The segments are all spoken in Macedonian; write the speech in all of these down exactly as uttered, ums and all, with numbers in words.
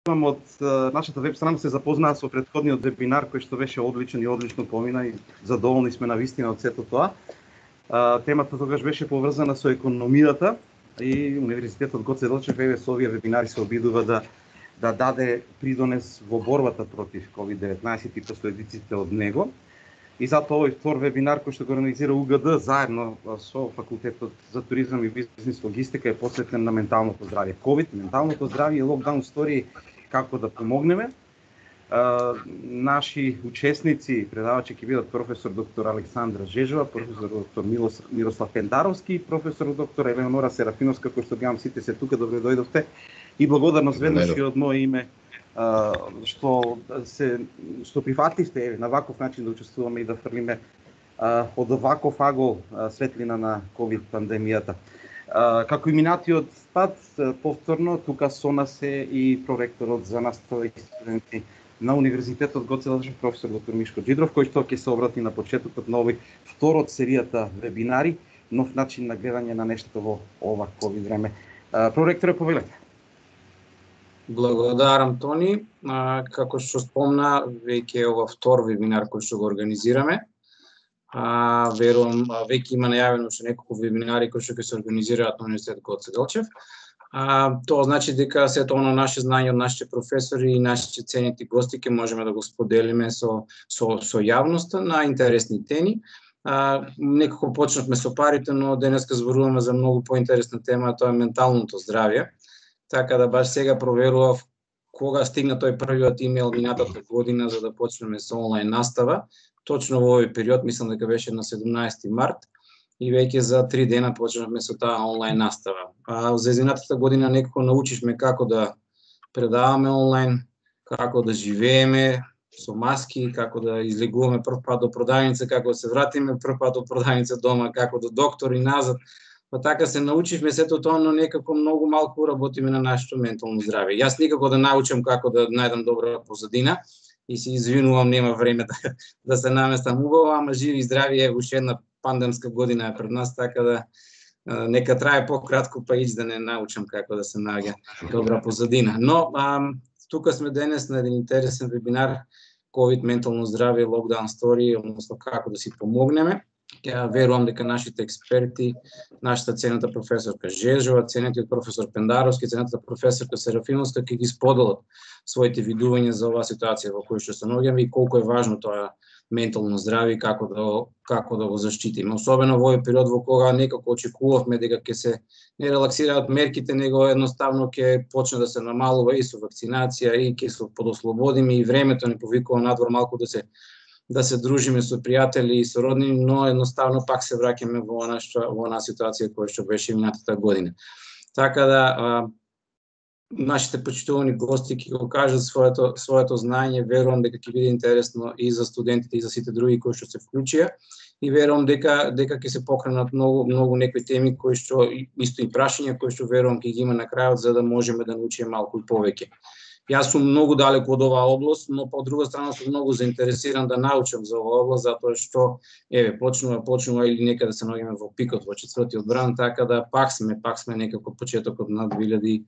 од нашата веб страна се запознаа со претходниот вебинар кој што беше одличен и одлично помина и задоволни сме навистина од сето тоа. Темата тогаш беше поврзана со економијата и Универзитетот Гоце Делчев еве со овие вебинари се обидува да да даде придонес во борбата против ковид деветнаесет и последиците од него. И затоа овој втор вебинар кој што го организира У Г Д заедно со Факултетот за туризам и бизнис логистика е посветен на менталното здравје. ковид, менталното здравје и локдаун стори како да помогнеме. А, наши учесници, предавачи ќе бидат професор доктор Александра Жежова, професор доктор Милос, Мирослав Пендаровски и професор доктор Елеонора Серафиновска, кој што гледам сите се тука, добре дојдовте. И благодарност веднаш и од моје име Uh, што се што прифатливте на ваков начин да учествуваме и да фрлиме uh, од ваков агол uh, светлина на ковид пандемијата. Uh, како и минатиот пат, uh, повторно тука со нас е и проректорот за настава и студенти на Универзитетот Гоце Делчев, професор доктор Мишко Џидров, кој што ќе се обрати на почетокот на овој втор од серијата вебинари, нов начин на гледање на нештото во ова ковид време. Uh, проректоре, повелете. Благодарам, Тони. А, како што спомна, веќе е ова втор вебинар кој што го организираме. А, верувам, веќе има најавено уште неколку вебинари кои што ќе се организираат на Универзитетот Гоце Делчев. А, тоа значи дека сето оно наше знање од нашите професори и нашите ценети гости ќе можеме да го споделиме со со со јавноста на интересни теми. А, некако почнавме со парите, но денеска зборуваме за многу поинтересна тема, тоа е менталното здравје. Така да баш сега проверував кога стигна тој првиот имејл минатата година за да почнеме со онлайн настава. Точно во овој период, мислам дека беше на седумнаесети март, и веќе за три дена почнавме со таа онлайн настава. А за изминатата година некако научивме како да предаваме онлайн, како да живееме со маски, како да излегуваме прв пат до продавница, како да се вратиме прв пат до продавница дома, како до доктор и назад. Па така се научивме сето тоа, но некако многу малку работиме на нашето ментално здравје. Јас никако да научам како да најдам добра позадина и се извинувам, нема време да, да се наместам убаво, ама живи и здрави е уште една пандемска година е пред нас, така да а, нека трае пократко па ич да не научам како да се наоѓа добра позадина. Но а, тука сме денес на еден интересен вебинар ковид ментално здравје, локдаун стори, односно како да си помогнеме. Ја верувам дека нашите експерти, нашата ценета професорка Жежова, ценетиот професор Пендаровски, ценетата професорка Серафиновска ќе ги споделат своите видувања за оваа ситуација во која што се наоѓаме и колку е важно тоа ментално здравје и како да како да го заштитиме. Особено во овој период во кога некако очекувавме дека ќе се не релаксираат мерките, него едноставно ќе почне да се намалува и со вакцинација и ќе се подослободиме и времето ни повикува надвор малку да се да се дружиме со пријатели и со роднини, но едноставно пак се враќаме во нашата во она ситуација која што беше минатата година. Така да а, нашите почитувани гости ќе го кажат своето своето знаење, верувам дека ќе биде интересно и за студентите и за сите други кои што се вклучија и верувам дека дека ќе се покренат многу многу некои теми кои што исто и прашања кои што верувам ќе ги има на крајот за да можеме да научиме малку и повеќе. Јас сум многу далеку од оваа област, но по друга страна сум многу заинтересиран да научам за оваа област, затоа што еве почнува почнува или некаде се наоѓаме во пикот во четвртиот бран, така да пак сме пак сме некако почетокот на две илјади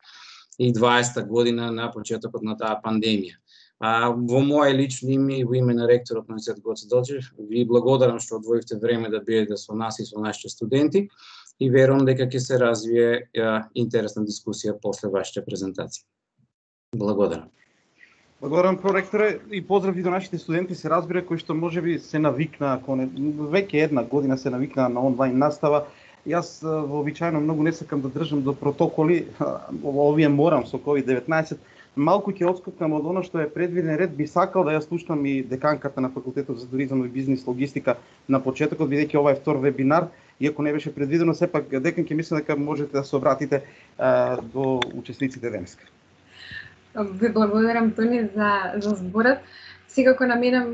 и дваесета година, на почетокот на таа пандемија. А во моје лично име и во име на ректорот на Универзитетот Гоце Делчев ви благодарам што одвоивте време да бидете со нас и со нашите студенти и верувам дека ќе се развие е, интересна дискусија после вашите презентации. Благодарам. Благодарам, проректоре, и поздрави до нашите студенти, се разбира, кои што можеби се навикнаа, веќе една година се навикнаа на онлайн настава. Јас вообичаено многу не сакам да држам до протоколи, овие морам со ковид деветнаесет. Малку ќе отскокнам од оно што е предвиден ред, би сакал да ја слушнам и деканката на Факултетот за туризам и бизнис логистика на почетокот, бидејќи ова е втор вебинар, иако не беше предвидено, сепак декан ќе мислам дека можете да се обратите а, до учесниците денеска. Ви благодарам, Тони, за, за зборот. Секако на мене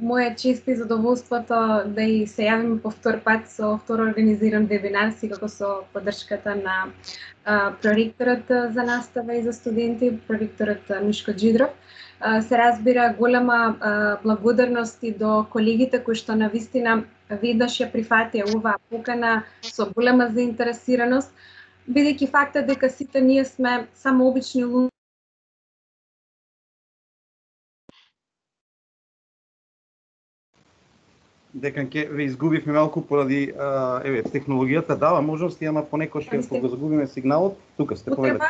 моја чест и задоволството да и се јавим по втор пат со втор организиран вебинар, секако со поддршката на а, проректорот за настава и за студенти, проректорот Мишко Џидров. А, се разбира голема а, благодарност и до колегите кои што навистина веднаш ја прифатија оваа покана со голема заинтересираност, бидејќи фактот дека сите ние сме само обични луѓе дека ќе ве изгубивме малку поради а, еве технологијата дава можности, ама понекогаш ќе го загубиме сигналот. Тука сте, повелете.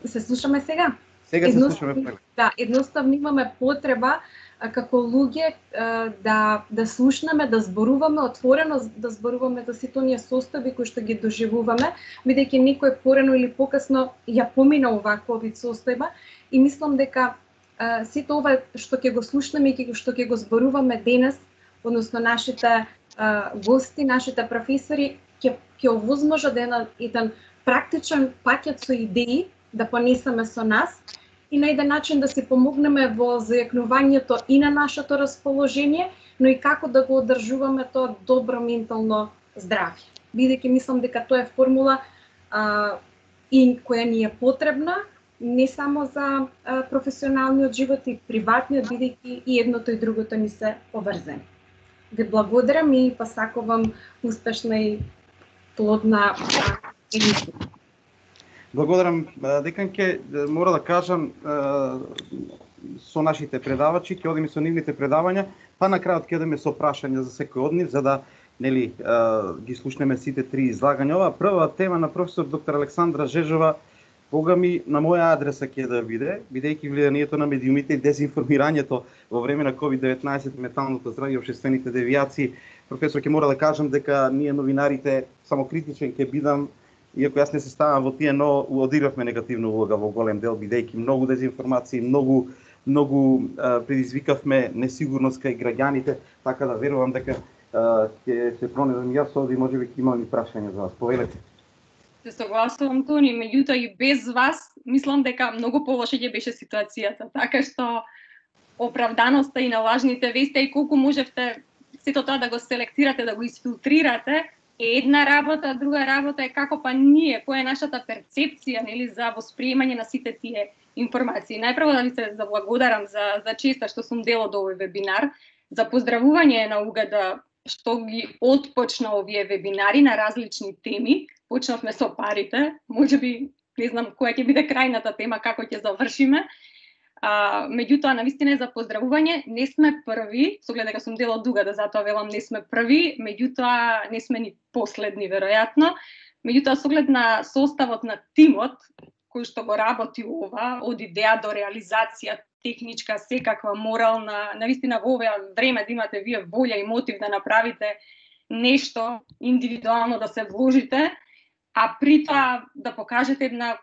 Се слушаме сега? Сега се слушаме преле. Да, едноставно имаме потреба а, како луѓе а, да да слушнеме, да зборуваме отворено, да зборуваме за сите оние состојби кои што ги доживуваме, бидејќи некој порано или покасно ја помина оваква вид состојба и мислам дека а, сите ова што ќе го слушнеме и што ќе го зборуваме денес, односно нашите а, гости, нашите професори ќе ќе овозможат да еден, еден практичен пакет со идеи да понесеме со нас и на еден начин да си помогнеме во зајакнувањето и на нашето расположение, но и како да го одржуваме тоа добро ментално здравје. Бидејќи мислам дека тоа е формула а, и која ни е потребна не само за а, професионалниот живот и приватниот, бидејќи и едното и другото ни се поврзани. Ви благодарам и посакувам успешна и плодна емисија. Благодарам. Декан ќе мора да кажам со нашите предавачи, ќе одиме со нивните предавања, па на крајот ќе одиме со прашања за секој од нив, за да нели ги слушнеме сите три излагања. Ова прва тема на професор доктор Александра Жежова, богами на моја адреса ќе да биде, бидејќи влијанието на медиумите и дезинформирањето во време на ковид деветнаесет, менталното здравје и општествените девијации. Професор, ќе мора да кажам дека ние новинарите самокритичен ќе бидам, иако јас не се ставам во тие, но одигравме негативна улога во голем дел, бидејќи многу дезинформации, многу многу а, предизвикавме несигурност кај граѓаните, така да верувам дека ќе се пронедам јас овде и можеби ќе имам и прашања за вас. Повелете. Се согласувам, Тони, меѓутоа и без вас мислам дека многу полоша ќе беше ситуацијата, така што оправданоста и на лажните вести и колку можевте сето тоа да го селектирате, да го изфилтрирате, е една работа, друга работа е како па ние, која е нашата перцепција, нели, за восприемање на сите тие информации. Најпрво да ви се заблагодарам за за честа што сум дел од овој вебинар, за поздравување на Угада што ги отпочна овие вебинари на различни теми. Почнавме со парите, можеби не знам која ќе биде крајната тема, како ќе завршиме. А, меѓутоа, навистина е за поздравување, не сме први, со оглед дека сум дел од Угада, затоа велам не сме први, меѓутоа не сме ни последни веројатно. Меѓутоа, со оглед на составот на тимот кој што го работи ова, од идеја до реализација, техничка, секаква, морална, навистина во ова време да имате вие волја и мотив да направите нешто индивидуално, да се вложите, а при тоа да покажете една,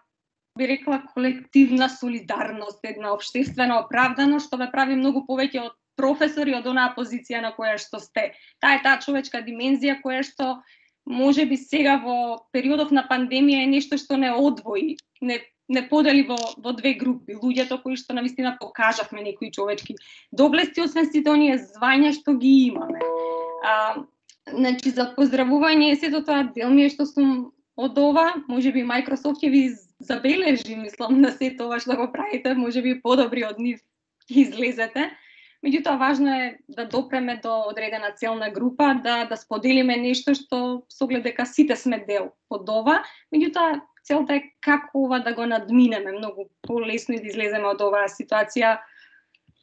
би рекла, колективна солидарност, една општествена оправданост, што ве прави многу повеќе од професори од онаа позиција на која што сте. Таа е таа човечка димензија која што можеби сега во периодов на пандемија е нешто што не одвои, не не подели во во две групи, луѓето кои што навистина покажавме некои човечки доблести, освен сите оние звања што ги имаме. А, значи за поздравување сето тоа дел ми е што сум од ова, можеби Microsoft ќе ви забележи, мислам, на сето ова што го правите, можеби подобри од нив излезете. Меѓутоа важно е да допреме до одредена целна група, да да споделиме нешто што со оглед дека сите сме дел од ова. Меѓутоа целта е како ова да го надминеме многу полесно и да излеземе од оваа ситуација,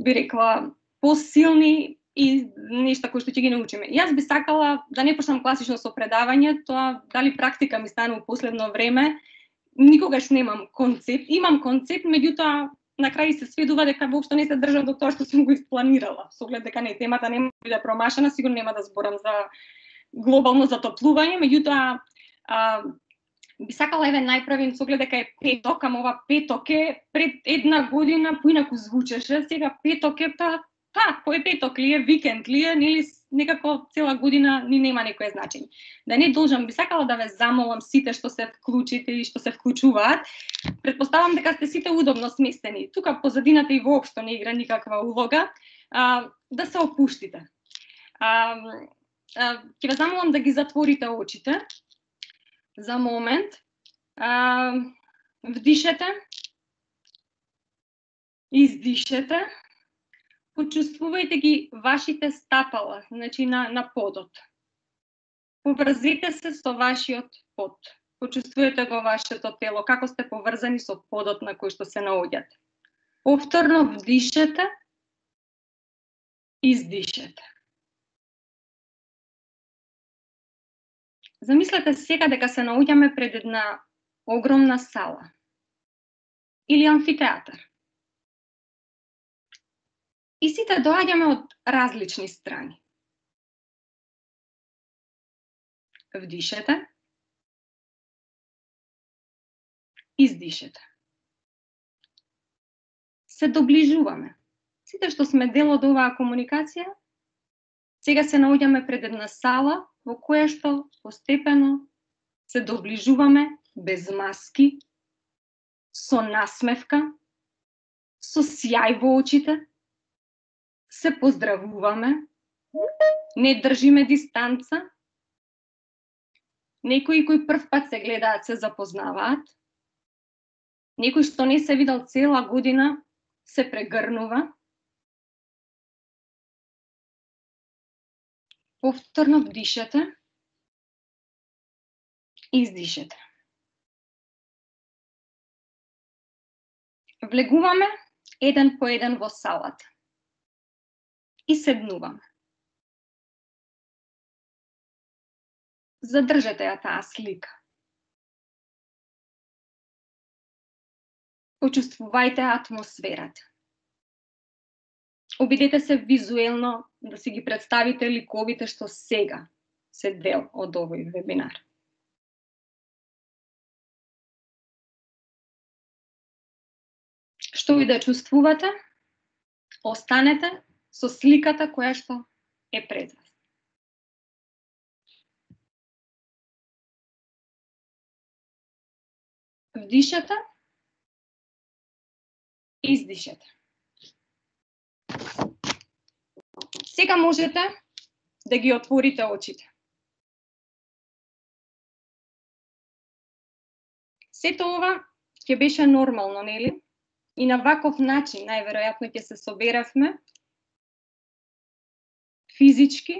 би рекла, посилни и нешта кои што ќе ги научиме. Јас би сакала да не почнам класично со предавање, тоа дали практика ми станува последно време, никогаш немам концепт, имам концепт, меѓутоа на крај се сведува дека воопшто не се држам до тоа што сум го испланирала. Со оглед дека не темата нема да биде промашена, сигурно нема да зборам за глобално затоплување, меѓутоа а, би сакала еве најпрвен со оглед дека е петок, ама ова петок е пред една година поинаку звучеше, сега петок е па па, кој е петок ли е, викенд ли е, нели некако цела година ни нема некое значење. Да не должам, би сакала да ве замолам сите што се вклучите и што се вклучуваат. Предпоставам дека сте сите удобно сместени. Тука позадината и воопшто не игра никаква улога, а, да се опуштите. А, а, ќе ве замолам да ги затворите очите за момент. А, вдишете. Издишете. Почувствувајте ги вашите стапала, значи на, на подот. Поврзете се со вашиот под. Почувствувате го вашето тело, како сте поврзани со подот на кој што се наоѓате. Повторно вдишете, издишете. Замислете сега дека се наоѓаме пред една огромна сала или амфитеатар. И сите доаѓаме од различни страни. Вдишете. Издишете. Се доближуваме. Сите што сме дел од оваа комуникација, сега се наоѓаме пред една сала во која што постепено се доближуваме без маски, со насмевка, со сјај во очите, се поздравуваме, не држиме дистанца, некои кои прв пат се гледаат се запознаваат, некој што не се видел цела година се прегрнува. Повторно вдишете, издишете. Влегуваме еден по еден во салата и седнуваме. Задржете ја таа слика. Почувствувајте атмосферата. Обидете се визуелно да си ги представите ликовите што сега се дел од овој вебинар. Што и да чувствувате, останете со сликата која што е пред вас. Вдишете, издишете. Сега можете да ги отворите очите. Сето ова ќе беше нормално, нели? И на ваков начин, најверојатно, ќе се соберавме физички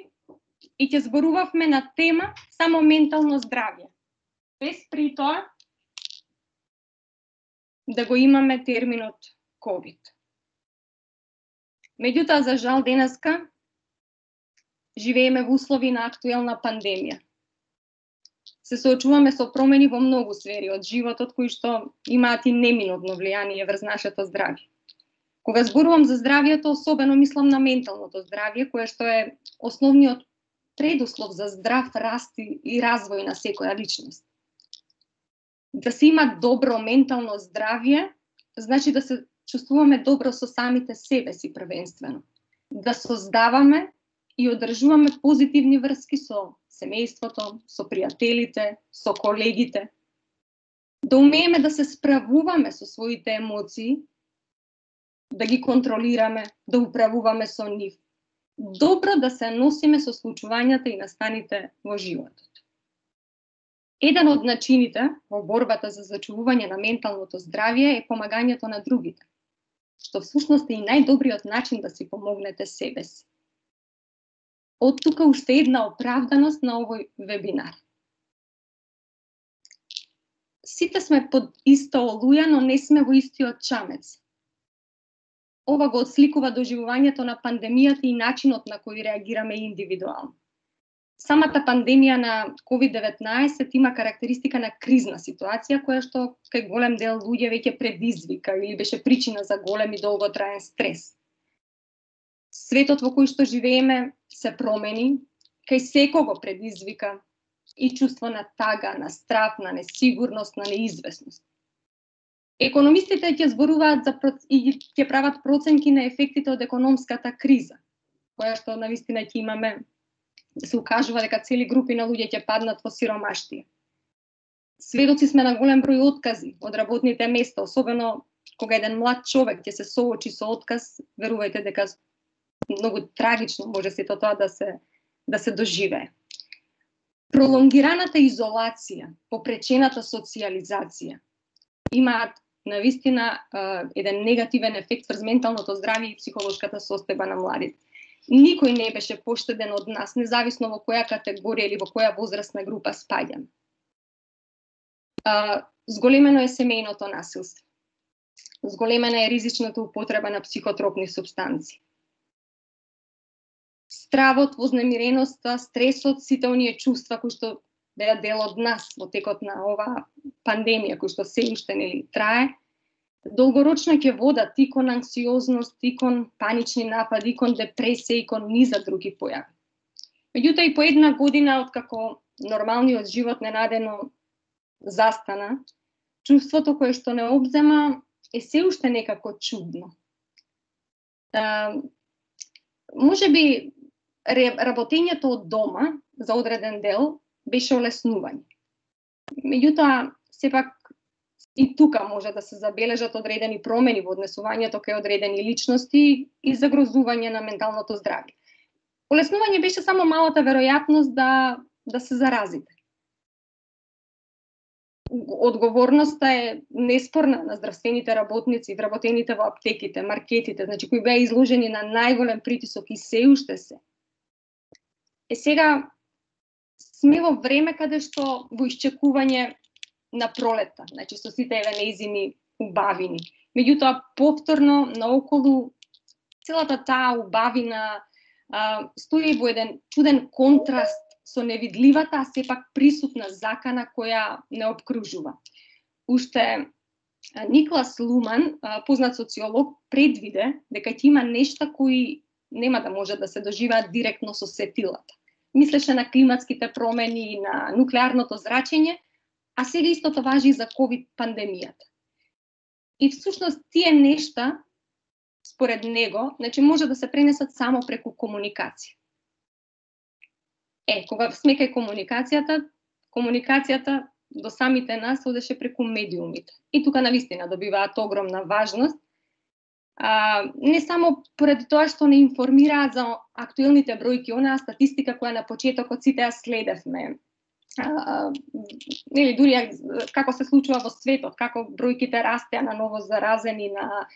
и ќе зборувавме на тема само ментално здравје. Без при тоа да го имаме терминот ковид. Меѓутоа, за жал, денеска живееме во услови на актуелна пандемија. Се соочуваме со промени во многу сфери од животот кои што имаат и неминутно влијание врз нашето здравје. Кога зборувам за здравјето, особено мислам на менталното здравје, кое што е основниот предуслов за здрав раст и развој на секоја личност. Да се има добро ментално здравје, значи да се чувствуваме добро со самите себе си првенствено. Да создаваме и одржуваме позитивни врски со семејството, со пријателите, со колегите. Да умееме да се справуваме со своите емоции, да ги контролираме, да управуваме со нив. Добро да се носиме со случувањата и настаните во животот. Еден од начините во борбата за зачувување на менталното здравје е помагањето на другите, што всушност е и најдобриот начин да си помогнете себе си. Од тука уште една оправданост на овој вебинар. Сите сме под иста олуја, но не сме во истиот чамец. Ова го отсликува доживувањето на пандемијата и начинот на кој реагираме индивидуално. Самата пандемија на ковид деветнаесет има карактеристика на кризна ситуација, која што кај голем дел луѓе веќе предизвика или беше причина за голем и долготраен стрес. Светот во кој што живееме се промени, кај секого предизвика и чувство на тага, на страв, на несигурност, на неизвестност. Економистите ќе зборуваат за и ќе прават проценки на ефектите од економската криза, која што навистина ќе имаме, се укажува дека цели групи на луѓе ќе паднат во сиромаштија. Сведоци сме на голем број откази од работните места, особено кога еден млад човек ќе се соочи со отказ, верувајте дека многу трагично може сето тоа да се да се доживее. Пролонгираната изолација, попречената социјализација имаат навистина еден негативен ефект врз менталното здравје и психолошката состојба на младите. Никој не беше поштеден од нас, независно во која категорија или во која возрастна група спаѓаме. Зголемено е семејното насилство. Зголемена е ризичната употреба на психотропни супстанци. Стравот, вознемиреноста, стресот, сите оние чувства кои што беа дел од нас во текот на оваа пандемија која што се уште нели трае, долгорочно ќе водат и кон анксиозност, и кон панични напади, и кон депресија, и кон низа други појави. Меѓутоа и по една година откако нормалниот живот ненадено застана, чувството кое што не обзема е се уште некако чудно. А, може би работењето од дома за одреден дел беше олеснување. Меѓутоа, сепак и тука може да се забележат одредени промени во однесувањето кај одредени личности и загрозување на менталното здравје. Олеснување беше само малата веројатност да, да се заразите. Одговорноста е неспорна на здравствените работници, вработените во аптеките, маркетите, значи кои беа изложени на најголем притисок и се уште се. Е сега сме во време каде што во исчекување на пролета, значи со сите еве нејзини убавини. Меѓутоа повторно наоколу целата таа убавина а, стои во еден чуден контраст со невидливата, а сепак присутна закана која не обкружува. Уште Никлас Луман, познат социолог, предвиде дека ќе има нешта кои нема да може да се доживеат директно со сетилата. Мислеше на климатските промени и на нуклеарното зрачење, а сега истото важи и за ковид пандемијата. И всушност тие нешта, според него, значи може да се пренесат само преку комуникација. Е, кога сме кај комуникацијата, комуникацијата до самите нас одеше преку медиумите. И тука навистина добиваат огромна важност. А, не само поради тоа што не информираат за актуелните бројки, онаа статистика која на почетокот сите ја следевме. А, нели дури како се случува во светот, како бројките растеа на ново заразени, на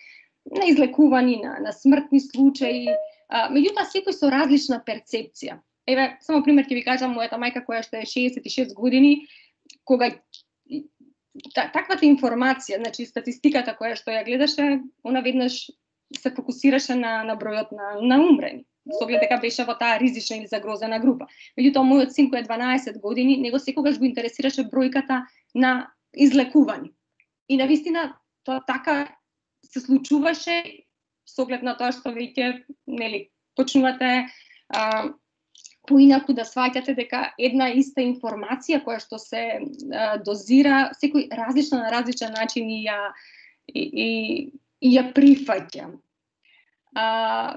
на излекувани, на, на смртни случаи, а, меѓутоа секој со различна перцепција. Еве, само пример ќе ви кажам, мојата мајка која што е шеесет и шест години, кога та, таквата информација, значи статистиката која што ја гледаше, она веднаш се фокусираше на, на бројот на, на умрени. Со оглед дека беше во таа ризична или загрозена група. Меѓутоа, мојот син кој е дванаесет години, него секогаш го интересираше бројката на излекувани. И навистина тоа така се случуваше со оглед на тоа што веќе нели почнувате а, поинаку да сваќате дека една иста информација која што се а, дозира, секој различно на различен начин и ја и, и, и ја прифаќа. А,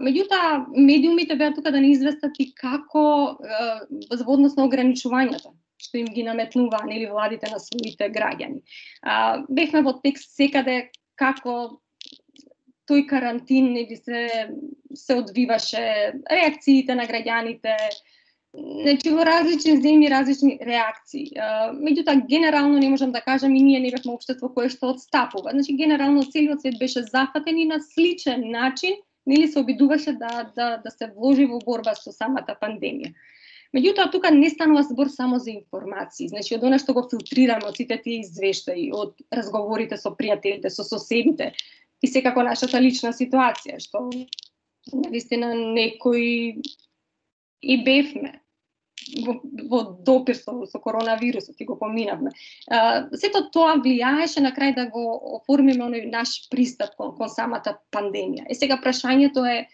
меѓутоа, медиумите беа тука да не известат и како а, во однос на ограничувањата што им ги наметнуваа нели владите на своите граѓани. А, бевме во текст секаде како тој карантин нели се се одвиваше, реакциите на граѓаните, значи во различни земји различни реакции. Меѓутоа генерално не можам да кажам и ние не бевме општество кое што отстапува. Значи генерално целиот свет беше зафатен и на сличен начин нели се обидуваше да да да се вложи во борба со самата пандемија. Меѓутоа тука не станува збор само за информации, значи од она што го филтрираме од сите тие извештаи, од разговорите со пријателите, со соседите и секако нашата лична ситуација што навистина некои и бевме во, во допир со, со коронавирусот и го поминавме. А, сето тоа влијаеше на крај да го оформиме оној наш пристап кон, кон самата пандемија. И сега прашањето е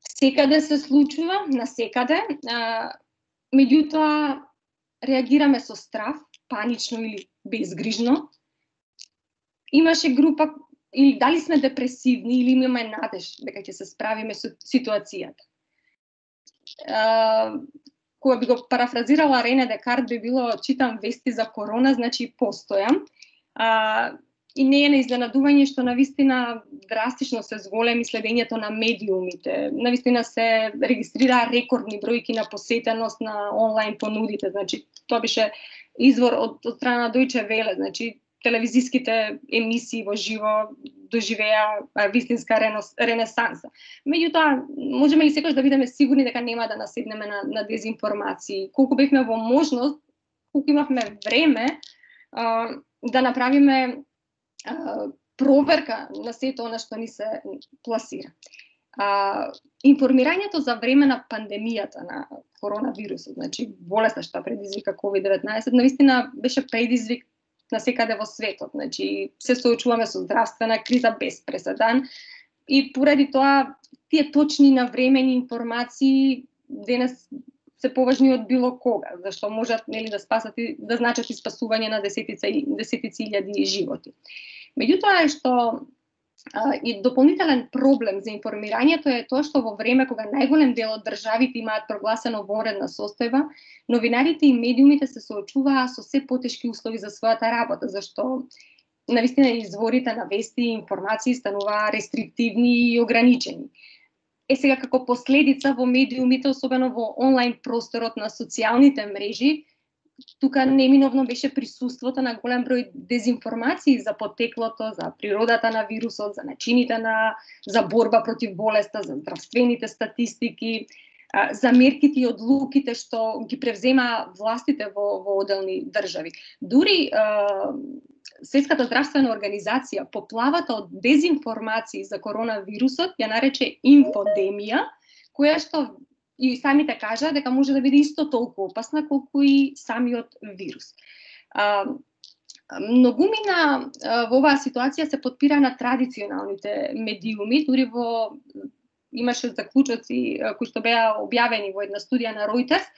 секаде се случува, на секаде, а, меѓутоа реагираме со страв, панично или безгрижно. Имаше група или дали сме депресивни или имаме надеж дека ќе се справиме со ситуацијата. Uh, кога би го парафразирала Рене Декарт би било читам вести за корона, значи постојам. Uh, и не е на изненадување што навистина драстично се зголеми следењето на медиумите. Навистина се регистрираа рекордни бројки на посетеност на онлайн понудите. Значи тоа беше извор од, од страна на Deutsche Welle, значи телевизиските емисии во живо доживеа вистинска ренесанса. Меѓутоа, можеме ли секогаш да бидеме сигурни дека нема да наседнеме на, на дезинформации? Колку бевме во можност, колку имавме време а, да направиме а, проверка на сето она што ни се пласира. А, информирањето за време на пандемијата на коронавирусот, значи болеста што предизвика ковид деветнаесет, навистина беше предизвик на секаде во светот. Значи се соочуваме со здравствена криза без преседан и поради тоа тие точни навремени информации денес се поважни од било кога, зашто можат, нели, да спасат и да значат и спасување на десетици десетици илјади животи. Меѓутоа е што а, и дополнителен проблем за информирањето е тоа што во време кога најголем дел од државите имаат прогласено вонредна состојба, новинарите и медиумите се соочуваа со се потешки услови за својата работа, зашто навистина изворите на вести и информации стануваа рестриктивни и ограничени. Е сега како последица во медиумите, особено во онлайн просторот на социјалните мрежи, тука неминовно беше присуството на голем број дезинформации за потеклото, за природата на вирусот, за начините на за борба против болеста, за здравствените статистики, за мерките и одлуките што ги превзема властите во, во одделни држави. Дури Светската здравствена организација поплавата од дезинформации за коронавирусот ја нарече инфодемија, која што и самите кажа дека може да биде исто толку опасна колку и самиот вирус. А, многумина во оваа ситуација се подпира на традиционалните медиуми, дури во имаше заклучоци кои што беа објавени во една студија на Reuters,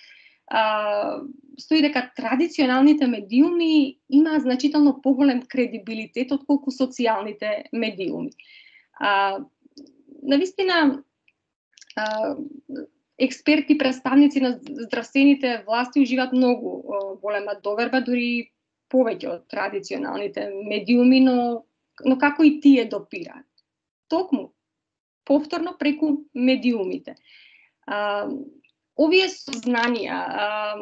Uh, стои дека традиционалните медиуми имаат значително поголем кредибилитет отколку социјалните медиуми. Uh, навистина, uh, експерти, представници на здравствените власти уживаат многу uh, голема доверба, дури повеќе од традиционалните медиуми, но, но како и тие допираат? Токму, повторно преку медиумите. Uh, Овие сознанија а,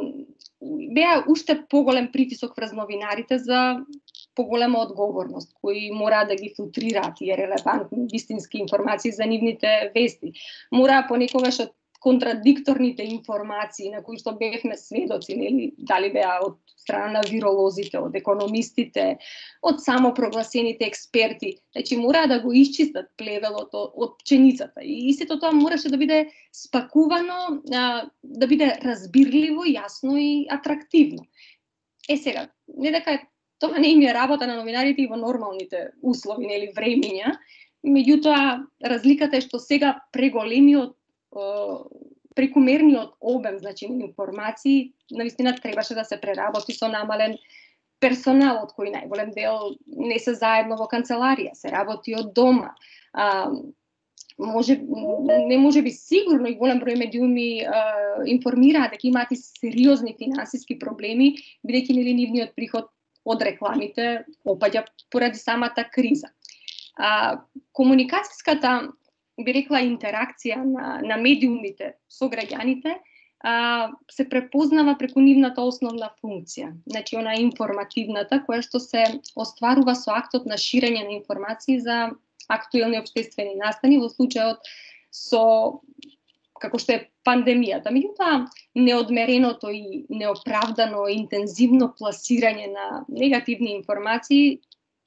беа уште поголем притисок врз новинарите за поголема одговорност, кои мора да ги филтрираат тие релевантни, вистински информации за нивните вести. Мора понекогаш од контрадикторните информации на кои што бевме сведоци, нели, дали беа од страна на виролозите, од економистите, од самопрогласените експерти, значи мора да го исчистат плевелот од пченицата. И сето тоа мораше да биде спакувано, да биде разбирливо, јасно и атрактивно. Е сега, не дека тоа не им е работа на новинарите и во нормалните услови, нели, времиња, меѓутоа разликата е што сега преголемиот прекумерниот обем, значи, информации, навистина требаше да се преработи со намален персонал, од кој најголем дел не се заедно во канцеларија, се работи од дома. А, може, не може би сигурно и голем број медиуми а, информираат дека имаат и сериозни финансиски проблеми, бидејќи нели нивниот приход од рекламите опаѓа поради самата криза. А, комуникацијската, би рекла, интеракција на, на медиумите со граѓаните а, се препознава преку нивната основна функција, значи она информативната, која што се остварува со актот на ширење на информации за актуелни општествени настани, во случајот со како што е пандемијата. Меѓутоа, неодмереното и неоправдано интензивно пласирање на негативни информации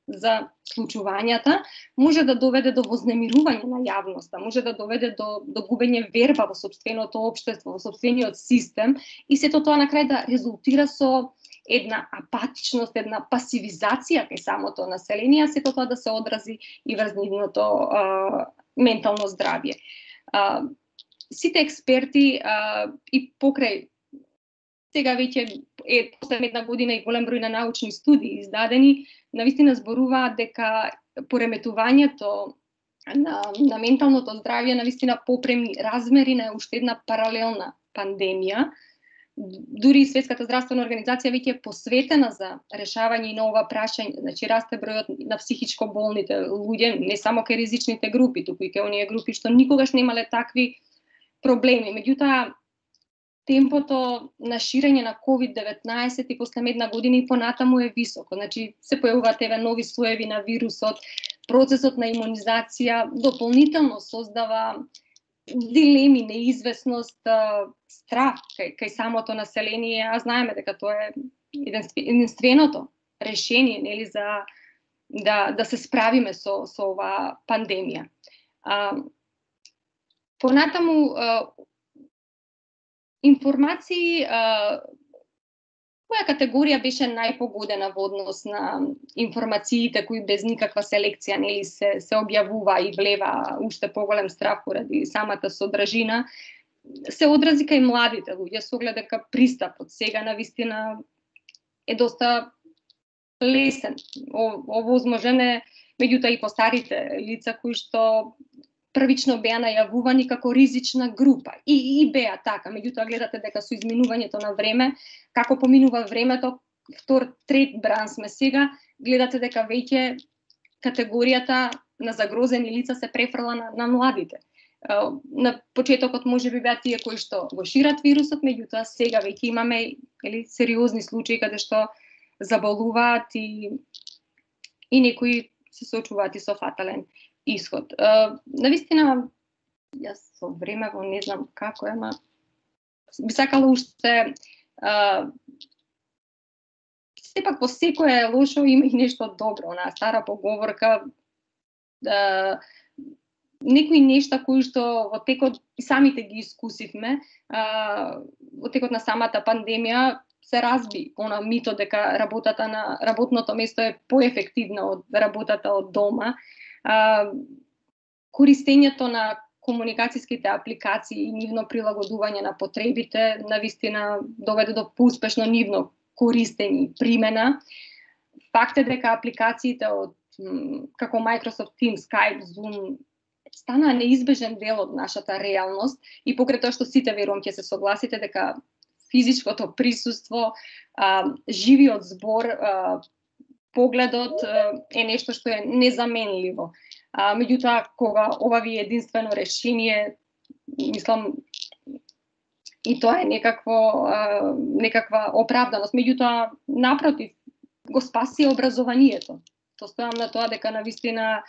за случувањата може да доведе до вознемирување на јавноста, може да доведе до, до губење верба во сопственото општество, во сопствениот систем и сето тоа на крај да резултира со една апатичност, една пасивизација кај самото население, сето тоа да се одрази и врз нивното а, ментално здравје. А, сите експерти а, и покрај сега веќе е последна една година и голем број на научни студии издадени, навистина зборуваат дека пореметувањето на, на менталното здравје навистина попреми размери на уште една паралелна пандемија. Дури Светската здравствена организација веќе е посветена за решавање на ова прашање, значи расте бројот на психичко болните луѓе, не само кај ризичните групи, туку и кај оние групи што никогаш немале такви проблеми. Меѓутоа, темпото на ширење на ковид деветнаесет и после една година и понатаму е високо. Значи, се појавуваат еве нови слоеви на вирусот, процесот на имунизација дополнително создава дилеми, неизвестност, страх кај, кај самото население, а знаеме дека тоа е единственото решение, нели, за да да се справиме со со оваа пандемија. А, Понатаму информации, која категорија беше најпогодена во однос на информациите кои без никаква селекција нели се се објавува и влева уште поголем страф поради самата содржина, се одрази кај младите луѓе со оглед дека пристапот сега навистина е доста лесен. Овозможен е меѓутоа и по старите лица кои што првично беа најавувани како ризична група. И, и беа така, меѓутоа гледате дека со изминувањето на време, како поминува времето, втор, трет бран сме сега, гледате дека веќе категоријата на загрозени лица се префрла на, на младите. На почетокот може би беа тие кои што го шират вирусот, меѓутоа сега веќе имаме или сериозни случаи каде што заболуваат и, и некои се соочуваат и со фатален исход. Uh, навистина, јас со времево не знам како е, ама би сакала уште uh, сепак по секое лошо има и нешто добро, онаа стара поговорка, uh, некои нешта кои што во текот и самите ги искусивме, uh, во текот на самата пандемија се разби она мито дека работата на работното место е поефективна од работата од дома. Uh, користењето на комуникацијските апликации и нивно прилагодување на потребите навистина доведе до поуспешно нивно користење и примена. Факт е дека апликациите од како Microsoft Teams, Skype, Zoom станаа неизбежен дел од нашата реалност и покрај тоа што сите верувам ќе се согласите дека физичкото присуство, uh, живиот збор, uh, погледот е нешто што е незаменливо. А, меѓутоа, кога ова ви е единствено решение, мислам, и тоа е некакво, а, некаква оправданост. Меѓутоа, напротив, го спаси образованието. То стојам на тоа дека навистина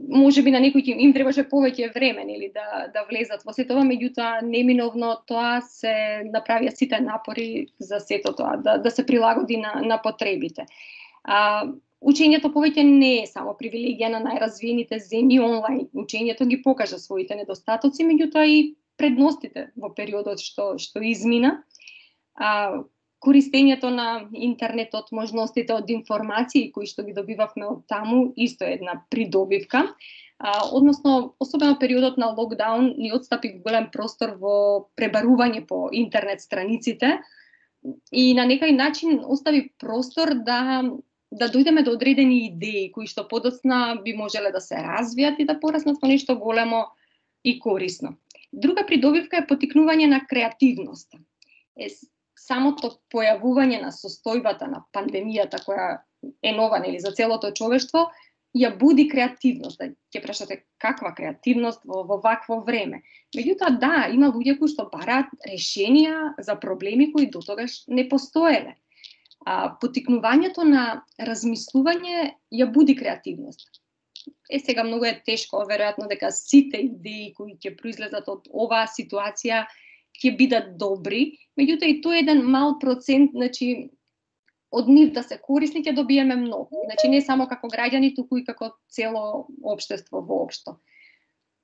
може би на некои им требаше повеќе време нели да да влезат во сето ова, меѓутоа неминовно тоа се направија сите напори за сето тоа да да се прилагоди на на потребите. А, учењето повеќе не е само привилегија на најразвиените земји, онлайн учењето ги покажа своите недостатоци, меѓутоа и предностите во периодот што што измина. А, користењето на интернетот, можностите од информации кои што ги добивавме од таму, исто е една придобивка. А, односно, особено периодот на локдаун ни отстапи голем простор во пребарување по интернет страниците и на некој начин остави простор да да дојдеме до одредени идеи кои што подоцна би можеле да се развијат и да пораснат во нешто големо и корисно. Друга придобивка е поттикнување на креативноста. Е, самото појавување на состојбата на пандемијата која е нова нели за целото човештво ја буди креативност. Ќе прашате каква креативност во, во вакво време. Меѓутоа да, има луѓе кои што бараат решенија за проблеми кои дотогаш не постоеле. А поттикнувањето на размислување ја буди креативност. Е сега многу е тешко, веројатно дека сите идеи кои ќе произлезат од оваа ситуација ќе бидат добри, меѓутоа и тоа е еден мал процент, значи од нив да се корисни ќе добиеме многу. Значи не само како граѓани, туку и како цело општество воопшто.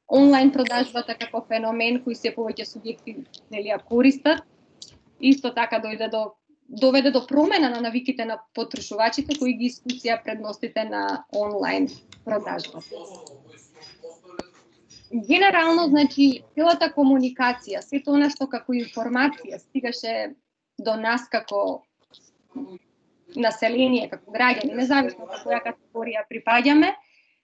Онлайн продажбата како феномен кој се повеќе субјекти нели ја користат, исто така дојде до доведе до промена на навиките на потрошувачите кои ги искусија предностите на онлайн продажбата. Генерално, значи, целата комуникација, сето она што како информација стигаше до нас како население, како граѓани, независно како која категорија припаѓаме,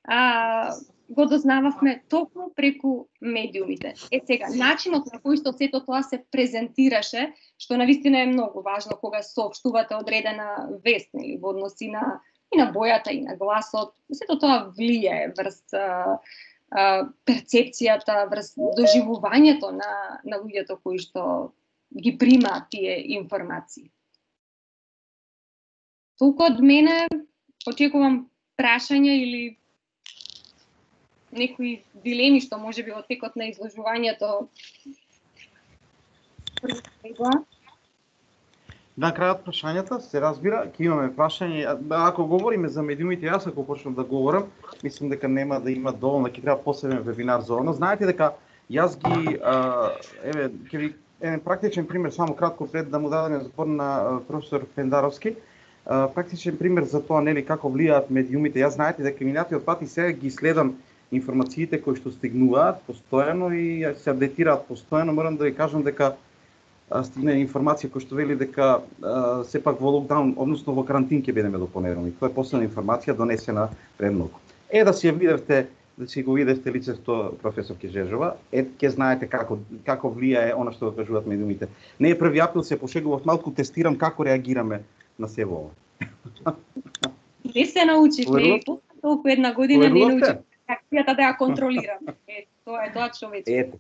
а, го дознававме токму преку медиумите. Е сега, начинот на кој што сето тоа се презентираше, што навистина е многу важно кога соопштувате одредена вест, нели, во односи на и на бојата и на гласот, сето тоа влијае врз а, а, перцепцијата, врз доживувањето на на луѓето кои што ги примаат тие информации. Толку од мене, очекувам прашања или некои дилеми што може би во текот на изложувањето. На крајот прашањата се разбира, ќе имаме прашање. Ако говориме за медиумите, јас ако почнам да говорам, мислам дека нема да има доволно, ќе треба посебен вебинар за оно. Знаете дека Јас ги а, еве ќе ви еден практичен пример само кратко пред да му дадеме збор на професор Пендаровски. А, практичен пример за тоа нели како влијаат медиумите. Јас знаете дека минатиот пат и сега ги следам информациите кои што стигнуваат постојано и се апдейтираат постојано. Морам да ви кажам дека стигна информација која што вели дека а, сепак во локдаун, односно во карантин ќе бидеме до понеделник. Тоа е последна информација донесена пред многу. Е да си ја видевте, да си го видевте лицето професор Кежежова, е ќе знаете како како влијае она што го кажуваат медиумите. Не е први април, се пошегував малку, тестирам како реагираме на се ова. Не се научиш, не толку една година не научиш реакцијата да ја контролираме. Е, тоа е тоа човечко. Ете.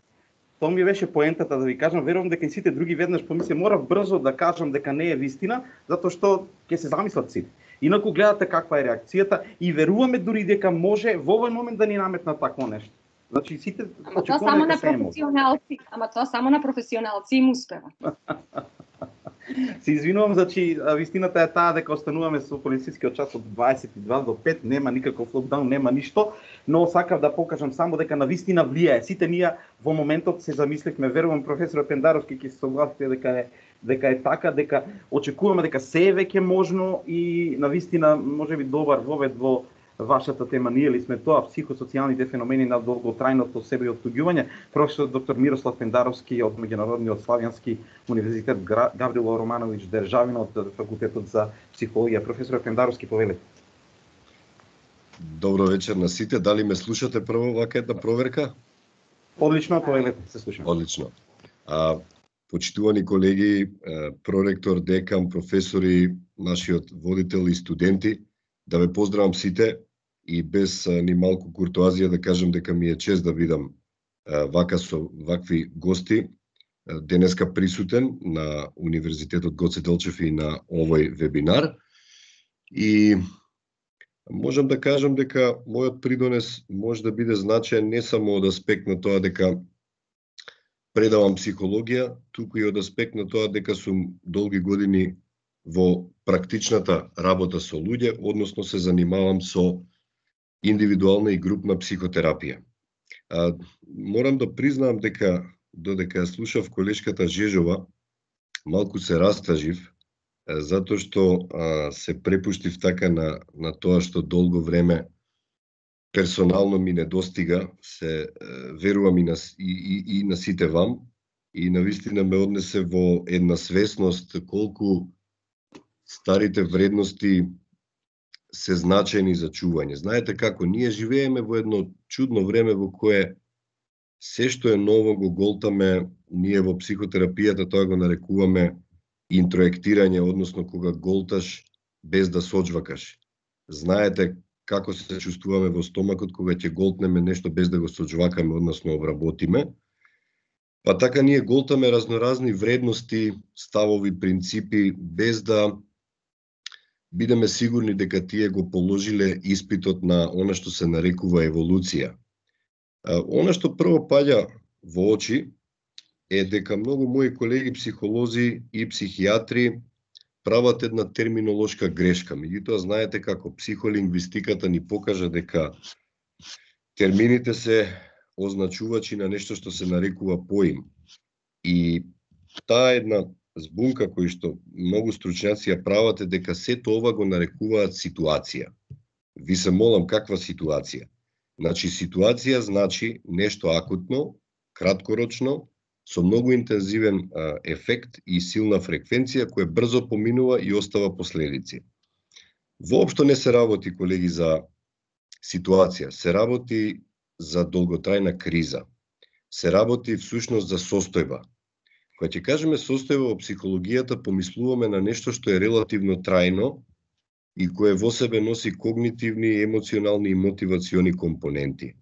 Тоа ми беше поентата да ви кажам, верувам дека и сите други веднаш помисли, морав брзо да кажам дека не е вистина, затоа што ќе се замислат сите. Инаку гледате каква е реакцијата и веруваме дури дека може во овој момент да ни наметнат такво нешто. Значи сите Ама тоа само на професионалци, ама тоа само на професионалци им успева. Се извинувам, значи вистината е таа дека остануваме со полицискиот час од дваесет и два до пет, нема никаков локдаун, нема ништо, но сакав да покажам само дека на вистина влијае. Сите ние во моментот се замисливме, верувам професор Пендаровски ќе се согласите дека е дека е така, дека очекуваме дека се е веќе можно и на вистина можеби добар вовед во вашата тема. Ние ли сме тоа психосоцијалните феномени на долготрајното себеоттуѓување. Професор доктор Мирослав Пендаровски од Меѓународниот славјански универзитет Гаврило Романовиќ Државина од факултетот за психологија. Професор Пендаровски, повелете. Добро вечер на сите. Дали ме слушате прво вака една проверка? Одлично, повелете, се слушаме. Одлично. А, почитувани колеги, проректор, декан, професори, нашиот водител и студенти, да ве поздравам сите и без ни малку куртоазија да кажам дека ми е чест да видам вака со вакви гости денеска присутен на Универзитетот Гоце Делчев и на овој вебинар. И можам да кажам дека мојот придонес може да биде значаен не само од аспект на тоа дека предавам психологија, туку и од аспект на тоа дека сум долги години во практичната работа со луѓе, односно се занимавам со индивидуална и групна психотерапија. А, морам да признаам дека додека ја слушав колешката Жежова, малку се растажив, затоа што а, се препуштив така на, на тоа што долго време персонално ми недостига, се верувам и на, и, и, и на сите вам, и навистина ме однесе во една свесност колку старите вредности се значајни за чување. Знаете како, ние живееме во едно чудно време во кое се што е ново го голтаме, ние во психотерапијата тоа го нарекуваме интроектирање, односно кога голташ без да соџвакаш. Знаете како се чувствуваме во стомакот кога ќе голтнеме нешто без да го соџвакаме, односно обработиме. Па така ние голтаме разноразни вредности, ставови, принципи, без да бидеме сигурни дека тие го положиле испитот на она што се нарекува еволуција. Она што прво паѓа во очи е дека многу мои колеги психолози и психијатри прават една терминолошка грешка. Меѓутоа, знаете како психолингвистиката ни покажа дека термините се означувачи на нешто што се нарекува поим. И таа една збунка кој што многу стручњаци ја прават е дека сето ова го нарекуваат ситуација. Ви се молам, каква ситуација? Значи, ситуација значи нешто акутно, краткорочно, со многу интензивен а, ефект и силна фреквенција која брзо поминува и остава последици. Воопшто не се работи, колеги, за ситуација, се работи за долготрајна криза. Се работи всушност за состојба. Кога ќе кажеме состојба во психологијата, помислуваме на нешто што е релативно трајно и кое во себе носи когнитивни, емоционални и мотивациони компоненти.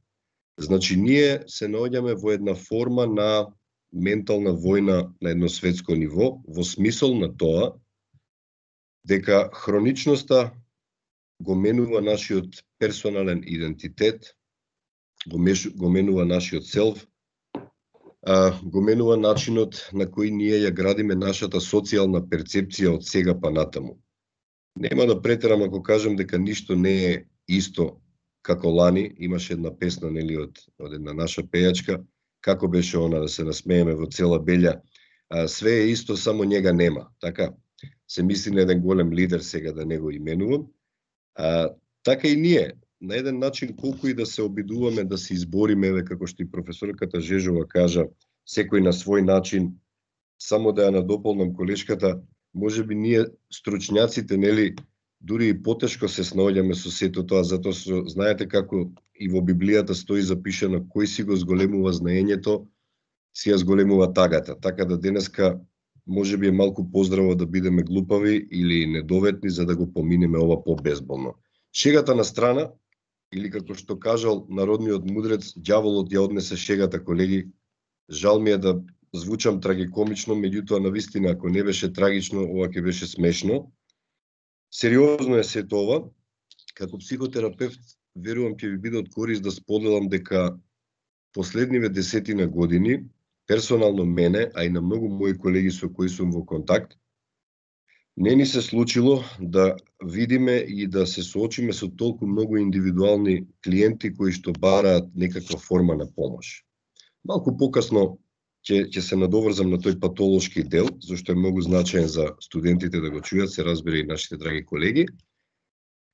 Значи, ние се наоѓаме во една форма на ментална војна на едно светско ниво, во смисол на тоа дека хроничноста го менува нашиот персонален идентитет, го, меш, го менува нашиот селф, а, го менува начинот на кој ние ја градиме нашата социјална перцепција од сега па натаму. Нема да претерам ако кажам дека ништо не е исто како лани. Имаше една песна, нели, од, од една наша пејачка, како беше она да се насмееме во цела белја, а, све е исто, само njega нема. Така, се мисли на еден голем лидер, сега да не го именувам. А, така и ние, на еден начин, колку и да се обидуваме да се избориме, еве како што и професорката Жежова кажа, секој на свој начин, само да ја надополнам колешката, може би ние стручњаците, нели, дури и потешко се снаоѓаме со сето тоа, затоа што знаете како и во Библијата стои запишано кој си го зголемува знаењето, си ја зголемува тагата. Така да денеска може би е малку поздраво да бидеме глупави или недоветни за да го поминеме ова побезболно. Шегата на страна, или како што кажал народниот мудрец, ѓаволот ја однесе шегата, колеги. Жал ми е да звучам трагикомично, меѓутоа навистина ако не беше трагично, ова ќе беше смешно. Сериозно е сето ова. Како психотерапевт, верувам ќе ви биде од корист да споделам дека последниве десетина години, персонално мене, а и на многу мои колеги со кои сум во контакт, не ни се случило да видиме и да се соочиме со толку многу индивидуални клиенти кои што бараат некаква форма на помош. Малку покасно ќе ќе се надоврзам на тој патолошки дел, зашто е многу значаен за студентите да го чујат, се разбира и нашите драги колеги.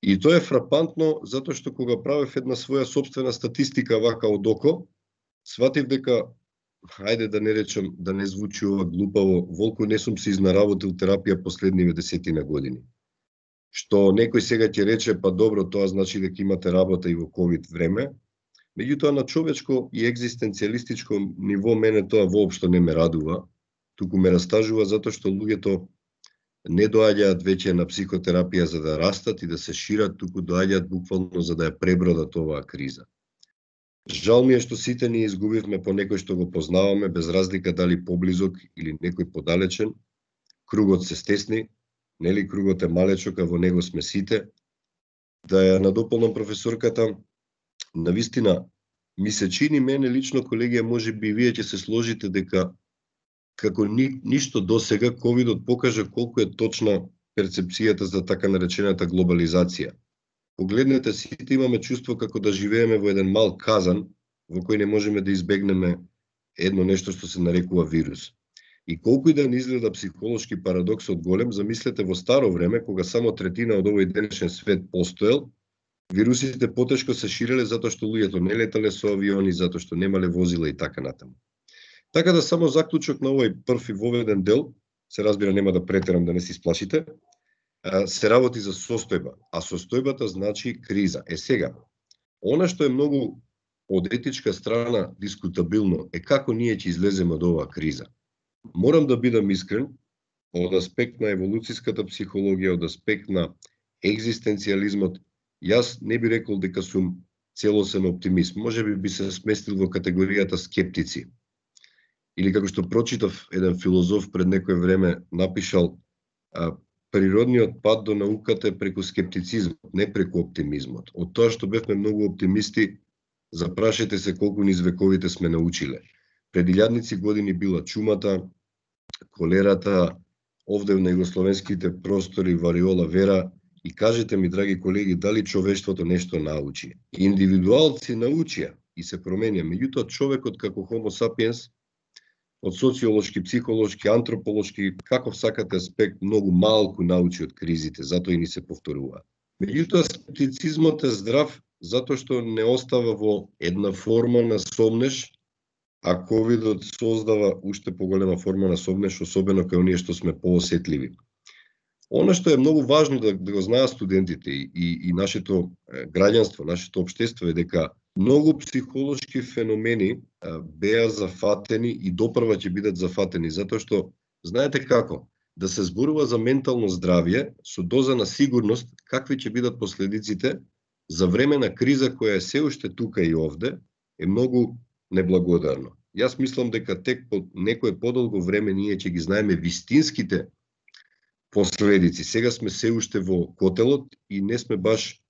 И тоа е фрапантно затоа што кога правев една своја собствена статистика вака од око, сватив дека, хајде да не речам, да не звучи ова глупаво, волку не сум се изнаработил терапија последниве десетина години. Што некој сега ќе рече, па добро, тоа значи дека имате работа и во ковид време. Меѓутоа на човечко и екзистенцијалистичко ниво мене тоа воопшто не ме радува, туку ме растажува затоа што луѓето не доаѓаат веќе на психотерапија за да растат и да се шират, туку доаѓаат буквално за да ја пребродат оваа криза. Жал ми е што сите ние изгубивме по некој што го познаваме, без разлика дали поблизок или некој подалечен. Кругот се стесни, нели кругот е малечок, а во него сме сите. Да ја надополнам професорката, навистина ми се чини мене лично, колегија, може би вие ќе се сложите дека како ни, ништо досега ковидот покажа колку е точна перцепцијата за така наречената глобализација. Погледнете, сите имаме чувство како да живееме во еден мал казан во кој не можеме да избегнеме едно нешто што се нарекува вирус. И колку и да не изгледа психолошки парадоксот голем, замислете во старо време, кога само третина од овој денешен свет постоел, вирусите потешко се ширеле затоа што луѓето не летале со авиони, затоа што немале возила и така натаму. Така да само заклучок на овој прв и воведен дел, се разбира нема да претерам да не се исплашите, се работи за состојба, а состојбата значи криза. Е сега, она што е многу од етичка страна дискутабилно е како ние ќе излеземе од оваа криза. Морам да бидам искрен, од аспект на еволуцијската психологија, од аспект на екзистенцијализмот, јас не би рекол дека сум целосен оптимист. Може би би се сместил во категоријата скептици. Или како што прочитав еден филозоф пред некој време напишал, а, природниот пат до науката е преку скептицизмот, не преку оптимизмот. Од тоа што бевме многу оптимисти, запрашете се колку низ вековите сме научиле. Пред илјадници години била чумата, колерата, овде на југословенските простори вариола вера, и кажете ми, драги колеги, дали човештвото нешто научи? Индивидуалци научија и се променија, меѓутоа човекот како Homo sapiens, од социолошки, психолошки, антрополошки, каков сакате аспект, многу малку научи од кризите, затоа и ни се повторува. Меѓутоа, скептицизмот е здрав, затоа што не остава во една форма на сомнеш, а ковидот создава уште поголема форма на сомнеш, особено кај оние што сме поосетливи. Она што е многу важно да, да го знаат студентите и, и, и нашето граѓанство, нашето општество е дека многу психолошки феномени а, беа зафатени и допрва ќе бидат зафатени, затоа што, знаете како, да се зборува за ментално здравје со доза на сигурност какви ќе бидат последиците за време на криза која е се уште тука и овде, е многу неблагодарно. Јас мислам дека тек по некое подолго време ние ќе ги знаеме вистинските последици. Сега сме се уште во котелот и не сме баш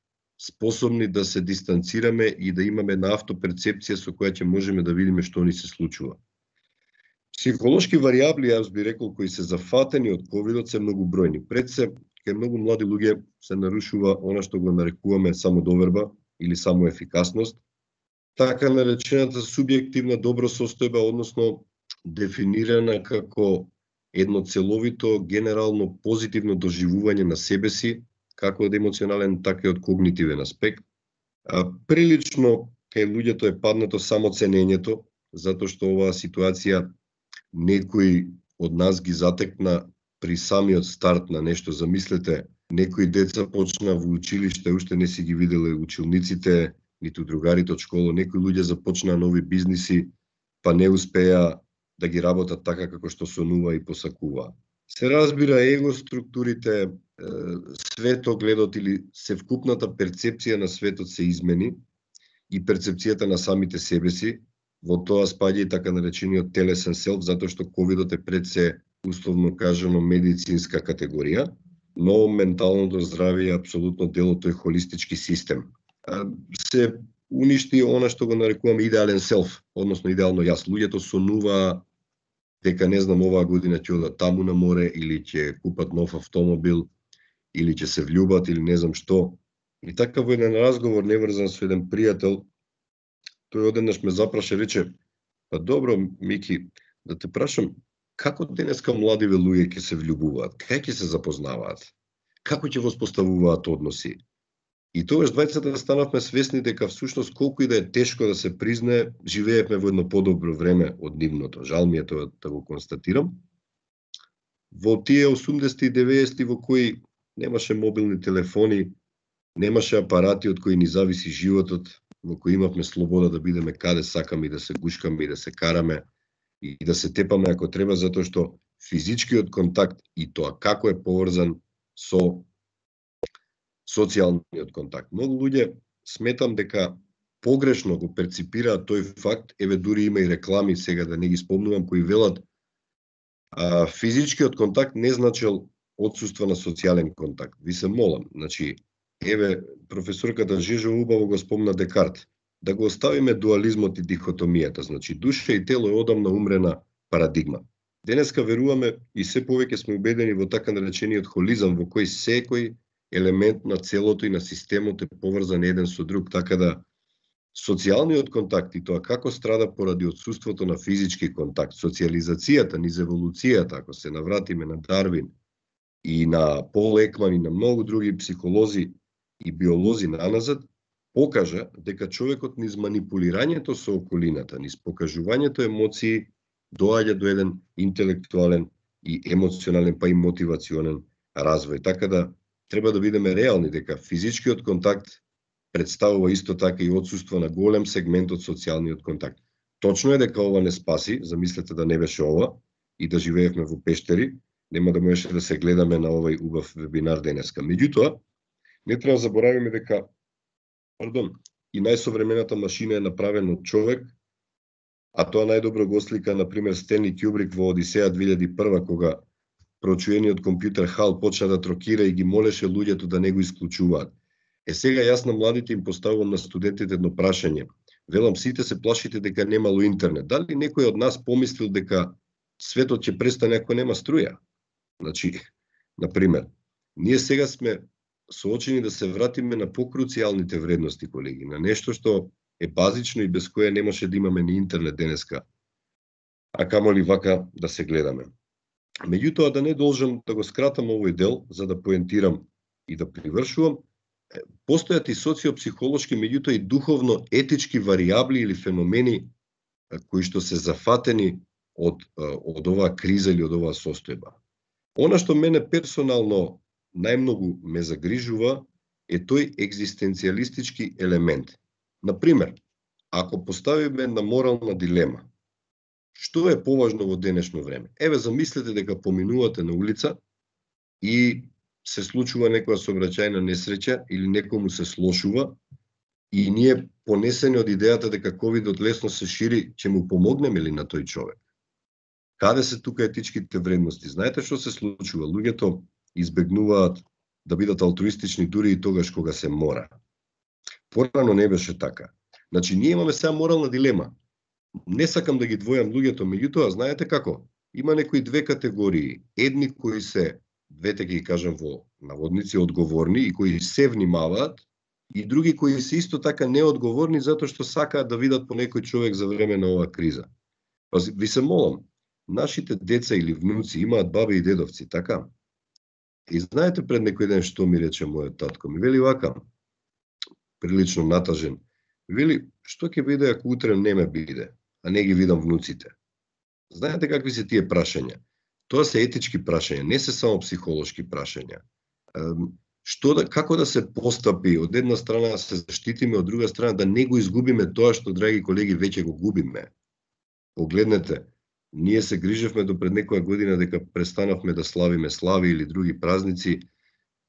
способни да се дистанцираме и да имаме една автоперцепција со која ќе можеме да видиме што ни се случува. Психолошки варијабли, јас би рекол, кои се зафатени од ковидот се многу бројни. Пред се, кај многу млади луѓе се нарушува она што го нарекуваме самодоверба или самоефикасност. така наречената субјективна добросостојба, односно дефинирана како едно целовито, генерално позитивно доживување на себе си, како од емоционален, така и од когнитивен аспект. А, прилично кај луѓето е паднато само ценењето, затоа што оваа ситуација некој од нас ги затекна при самиот старт на нешто. Замислете, некои деца почна во училиште, уште не си ги виделе училниците, ниту другарите од школа, некои луѓе започнаа нови бизниси, па не успеа да ги работат така како што сонува и посакува. Се разбира, его структурите, светогледот или севкупната перцепција на светот се измени и перцепцијата на самите себе си. Во тоа спаѓа и така наречениот телесен селф, затоа што ковидот е пред се, условно кажано, медицинска категорија, но менталното здравје е апсолутно дел од тој холистички систем. Се уништи она што го нарекуваме идеален селф, односно идеално јас. Луѓето сонуваа дека, не знам, оваа година ќе одат таму на море, или ќе купат нов автомобил, или ќе се влюбат, или не знам што. И така во еден разговор неврзан со еден пријател, тој одеднаш ме запраша, рече: па добро, Мики, да те прашам, како денеска младиве луѓе ќе се влюбуваат, кај ќе се запознаваат, како ќе воспоставуваат односи? И тогаш двајцата станавме свесни дека всушност колку и да е тешко да се признае, живеевме во едно подобро време од нивното. Жал ми е тоа да го констатирам. Во тие осумдесети и деветдесети во кои немаше мобилни телефони, немаше апарати од кои ни зависи животот, во кои имавме слобода да бидеме каде сакаме и да се гушкаме и да се караме и да се тепаме ако треба, затоа што физичкиот контакт и тоа како е поврзан со социјалниот контакт. Многу луѓе сметам дека погрешно го перципираат тој факт, еве дури има и реклами, сега да не ги спомнувам, кои велат а, физичкиот контакт не значел отсуство на социјален контакт. Ви се молам, значи, еве професорката Жежо убаво го спомна Декарт, да го оставиме дуализмот и дихотомијата, значи душа и тело е одамна умрена парадигма. Денеска веруваме и се повеќе сме убедени во така наречениот холизам, во кој секој елемент на целото и на системот е поврзан еден со друг, така да социјалниот контакт и тоа како страда поради отсуството на физички контакт, социјализацијата, низ еволуцијата, ако се навратиме на Дарвин и на Пол Екман и на многу други психолози и биолози наназад, покажа дека човекот низ манипулирањето со околината, низ покажувањето емоции, доаѓа до еден интелектуален и емоционален, па и мотивационен развој. Така да треба да бидеме реални дека физичкиот контакт представува исто така и отсуство на голем сегмент од социјалниот контакт. Точно е дека ова не спаси, замислете да не беше ова и да живеевме во пештери, нема да можеше да се гледаме на овој убав вебинар денеска. Меѓутоа, не треба да заборавиме дека пардон, и најсовремената машина е направена од човек, а тоа најдобро го слика, например, Стенли Кјубрик во Одисеја две илјади и прва, кога проучениот компјутер Хал почна да трокира и ги молеше луѓето да не го исклучуваат. Е сега јас на младите им поставувам, на студентите, едно прашање. Велам, сите се плашите дека немало интернет. Дали некој од нас помислил дека светот ќе престане ако нема струја? Значи, например, ние сега сме соочени да се вратиме на покруцијалните вредности, колеги, на нешто што е базично и без кое не може да имаме ни интернет денеска, а камоли вака да се гледаме. Меѓутоа, да не должам да го скратам овој дел, за да поентирам и да привршувам, постојат и социопсихолошки, меѓутоа и духовно-етички варијабли или феномени кои што се зафатени од, од оваа криза или од оваа состојба. Она што мене персонално најмногу ме загрижува е тој екзистенцијалистички елемент. Например, ако поставиме една морална дилема, што е поважно во денешно време? Еве, замислете дека поминувате на улица и се случува некоја сообраќајна несреќа или некому се слошува и ние, понесени од идејата дека ковидот лесно се шири, ќе му помогнеме ли на тој човек? Каде се тука етичките вредности? Знаете што се случува? Луѓето избегнуваат да бидат алтруистични дури и тогаш кога се мора. Порано не беше така. Значи, ние имаме сега морална дилема. Не сакам да ги двојам луѓето, меѓутоа, знаете како? Има некои две категории. Едни кои се, двете ги кажам во наводници, одговорни и кои се внимаваат, и други кои се исто така неодговорни затоа што сакаат да видат по некој човек за време на оваа криза. Па ви се молам, нашите деца или внуци имаат баби и дедовци, така? И знаете пред некој ден што ми рече мојот татко? Ми вели вака, прилично натажен, вели, што ќе биде ако утре не ме биде, а не ги видам внуците? Знаете какви се тие прашања? Тоа се етички прашања, не се само психолошки прашања. Што да, како да се постапи, од една страна да се заштитиме, од друга страна да не го изгубиме тоа што, драги колеги, веќе го губиме. Погледнете, ние се грижевме до пред некоја година дека престанавме да славиме слави или други празници,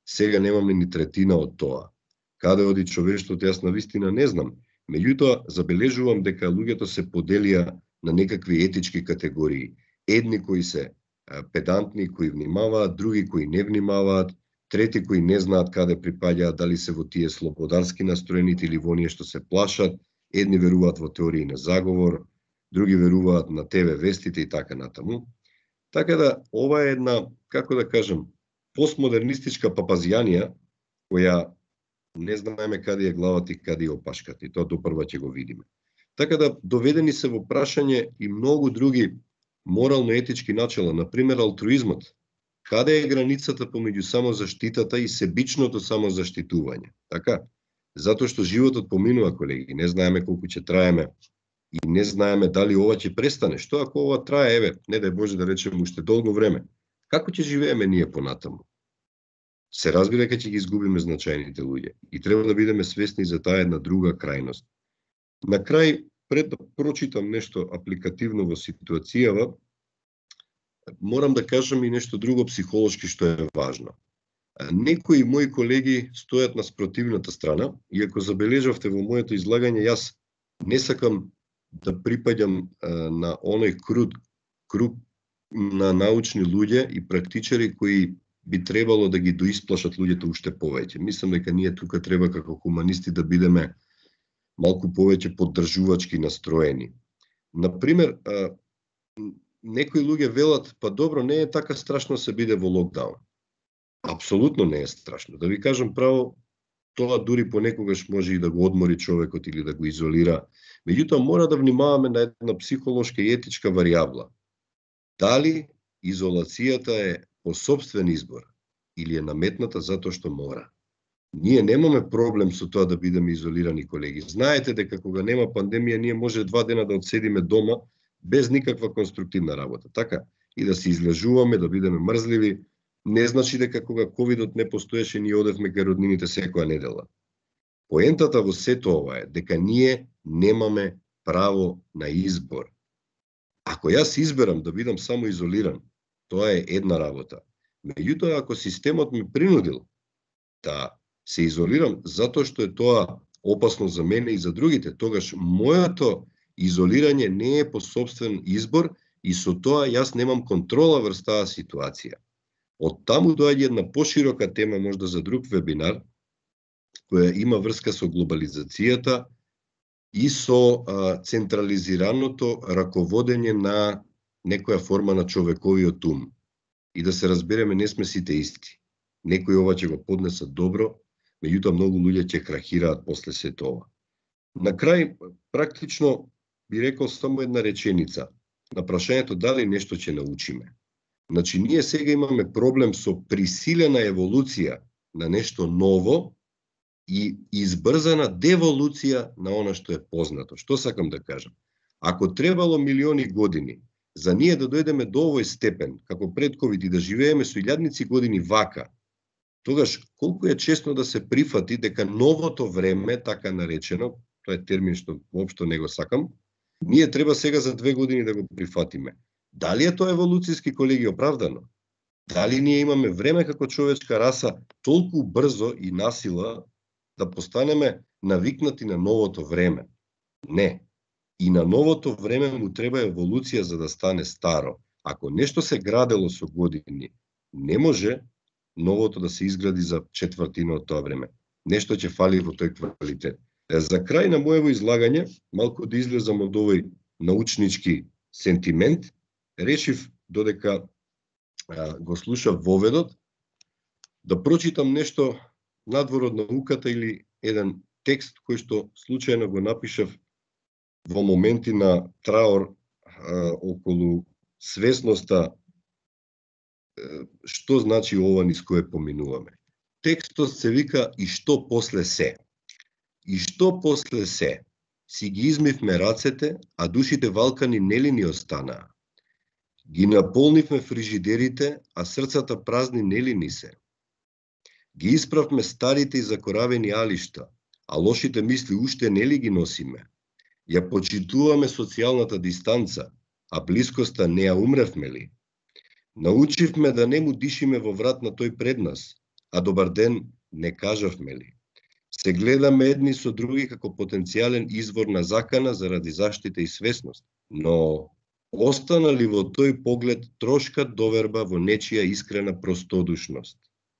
сега немаме ни третина од тоа. Каде оди човештвото, јас навистина не знам. Меѓутоа, забележувам дека луѓето се поделија на некакви етички категории. Едни кои се педантни, кои внимаваат, други кои не внимаваат, трети кои не знаат каде припаѓаат, дали се во тие слободарски настроените или во оние што се плашат, едни веруваат во теории на заговор, други веруваат на те ве вестите и така натаму. Така да, ова е една, како да кажем, постмодернистичка папазијанија, која не знаеме каде е главата и каде е опашката, и тоа допрва ќе го видиме. Така да, доведени се во прашање и многу други морално-етички начела, например алтруизмот. Каде е границата помеѓу самозаштитата и себичното самозаштитување? Така? Затоа што животот поминува, колеги, не знаеме колку ќе траеме и не знаеме дали ова ќе престане. Што ако ова трае, еве, не дај Боже да речеме уште долго време? Како ќе живееме ние понатаму? Се разбира дека ќе ги изгубиме значајните луѓе и треба да бидеме свесни за таа една друга крајност. На крај, пред да прочитам нешто апликативно во ситуацијава, морам да кажам и нешто друго психолошки што е важно. Некои мои колеги стојат на спротивната страна, и ако забележавте во моето излагање, јас не сакам да припаѓам на оној круг, круг на научни луѓе и практичари кои би требало да ги доисплашат луѓето уште повеќе. Мислам дека ние тука треба како хуманисти да бидеме малку повеќе поддржувачки настроени. Например, некои луѓе велат, па добро, не е така страшно се биде во локдаун. Апсолутно не е страшно. Да ви кажам право, тоа дури понекогаш може и да го одмори човекот или да го изолира. Меѓутоа мора да внимаваме на една психолошка и етичка варијабла. Дали изолацијата е по собствен избор или е наметната затоа што мора. Ние немаме проблем со тоа да бидеме изолирани, колеги. Знаете дека кога нема пандемија, ние може два дена да одседиме дома без никаква конструктивна работа. Така, и да се излежуваме, да бидеме мрзливи, не значи дека кога ковидот не постоеше, ние одевме кај роднините секоја недела. Поентата во сето ова е дека ние немаме право на избор. Ако јас изберам да бидам само изолиран, тоа е една работа. Меѓутоа, ако системот ме принудил да се изолирам затоа што е тоа опасно за мене и за другите, тогаш моето изолирање не е по собствен избор и со тоа јас немам контрола врз таа ситуација. Од таму доаѓа една поширока тема, можда за друг вебинар, која има врска со глобализацијата и со а, централизираното раководење на некоја форма на човековиот ум. И да се разбереме, не сме сите исти. Некои ова ќе го поднесат добро, меѓутоа многу луѓе ќе крахираат после се тоа. На крај, практично, би рекол само една реченица на прашањето дали нешто ќе научиме. Значи, ние сега имаме проблем со присилена еволуција на нешто ново и избрзана деволуција на она што е познато. Што сакам да кажам? Ако требало милиони години за ние да дојдеме до овој степен, како пред ковид и да живееме со илјадници години вака, тогаш колку е честно да се прифати дека новото време, така наречено, тоа е термин што воопшто не го сакам, ние треба сега за две години да го прифатиме. Дали е тоа еволуцијски, колеги, оправдано? Дали ние имаме време како човечка раса толку брзо и насила да постанеме навикнати на новото време? Не. И на новото време му треба еволуција за да стане старо. Ако нешто се градело со години, не може новото да се изгради за четвртина од тоа време. Нешто ќе фали во тој квалитет. За крај на моево излагање, малку да излезам од овој научнички сентимент, решив додека а, го слушав воведот, да прочитам нешто надвор од науката или еден текст кој што случајно го напишав во моменти на траор а, околу свесноста што значи ова низ кое поминуваме. Текстот се вика "И што после се". И што после се? Си ги измивме рацете, а душите валкани нели ни останаа. Ги наполнивме фрижидерите, а срцата празни нели ни се. Ги исправме старите и закоравени алишта, а лошите мисли уште нели ги носиме. Ја почитуваме социјалната дистанца, а блискоста не ја умревме ли? Научивме да не му дишиме во врат на тој пред нас, а добар ден не кажавме ли? Се гледаме едни со други како потенцијален извор на закана заради заштита и свесност, но остана ли во тој поглед трошка доверба во нечија искрена простодушност?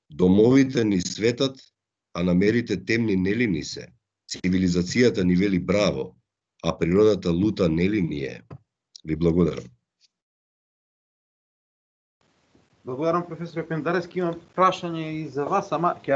Домовите ни светат, а намерите темни нели ни се? Цивилизацијата ни вели браво, а природата лута нели ни е? Ви благодарам. Благодарам, професор Пендарески. Имам прашање и за вас, ама ќе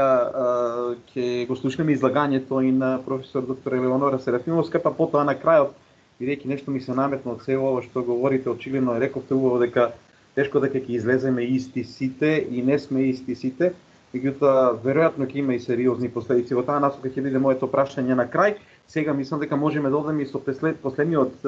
ќе го слушнеме излагањето и на професор доктор Елеонора Серафимовска, па потоа на крајот, бидејќи нешто ми се наметна од цело ова што говорите, очигледно рековте убаво дека тешко дека ќе излеземе исти сите и не сме исти сите, меѓутоа веројатно ќе има и сериозни последици. Во таа насока ќе биде моето прашање на крај. Сега мислам дека можеме да одеме и со последниот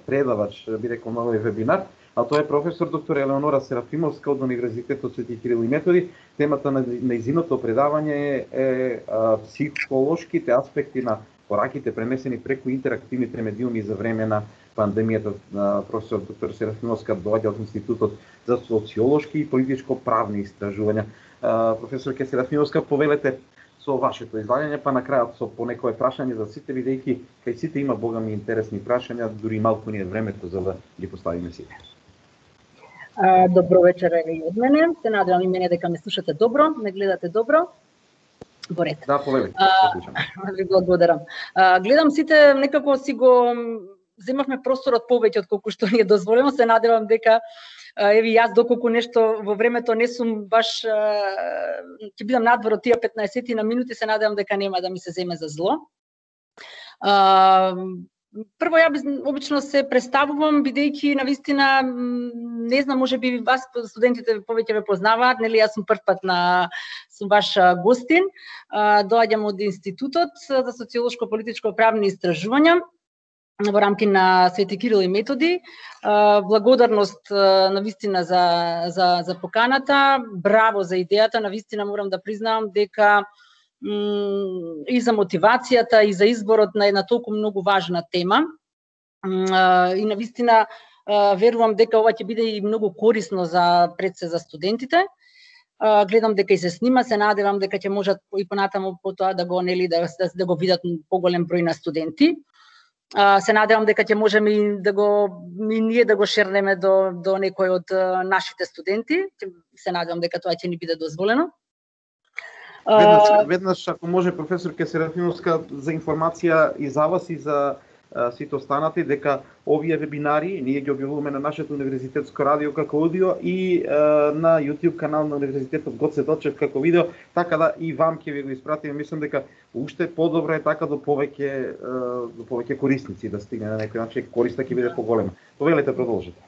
предавач, би рекол, на овој вебинар, а тоа е професор доктор Елеонора Серафимовска од Универзитетот Свети Кирил и Методи. Темата на нејзиното предавање е, е а, психолошките аспекти на пораките пренесени преку интерактивните медиуми за време на пандемијата. Професор доктор Серафимовска доаѓа од Институтот за социолошки и политичко-правни истражувања. А, професор Серафимовска, повелете со вашето излагање, па на крајот со понекое прашање за сите, бидејќи кај сите има богами интересни прашања, дури малку ни е времето за да ги поставиме сите. Добро вечер и од мене. Се надевам и мене дека ме слушате добро, ме гледате добро. Во ред. Да, повелете. Ви благодарам. А, гледам сите некако си го земавме просторот повеќе од колку што ни е дозволено. Се надевам дека еви јас доколку нешто во времето не сум баш ќе бидам надвор од тие петнаесет на минути, се надевам дека нема да ми се земе за зло. А, прво ја обично се представувам бидејќи навистина не знам, можеби вас студентите повеќе ме познаваат, нели јас сум прв пат на сум ваш гостин. Доаѓам од Институтот за социолошко политичко правни истражувања во рамки на Свети Кирил и Методи. Благодарност навистина за за за поканата, браво за идејата, навистина морам да признавам дека и за мотивацијата и за изборот на една толку многу важна тема. И навистина верувам дека ова ќе биде и многу корисно за пред се за студентите. Гледам дека и се снима, се надевам дека ќе можат и понатаму потоа да го нели да, да, да го видат поголем број на студенти. Се надевам дека ќе можеме и да го и ние да го шернеме до до некој од нашите студенти. Се надевам дека тоа ќе ни биде дозволено. Веднаш, веднаш ако може професор Серафимовска за информација и за вас и за а, сите останати, дека овие вебинари ние ги објавуваме на нашето универзитетско радио како аудио и а, на YouTube канал на универзитетот Гоце Делчев како видео, така да и вам ќе ви го испратиме. Мислам дека уште подобро е така до повеќе а, до повеќе корисници да стигне на некој начин, користа ќе биде поголема. Повелете, продолжете.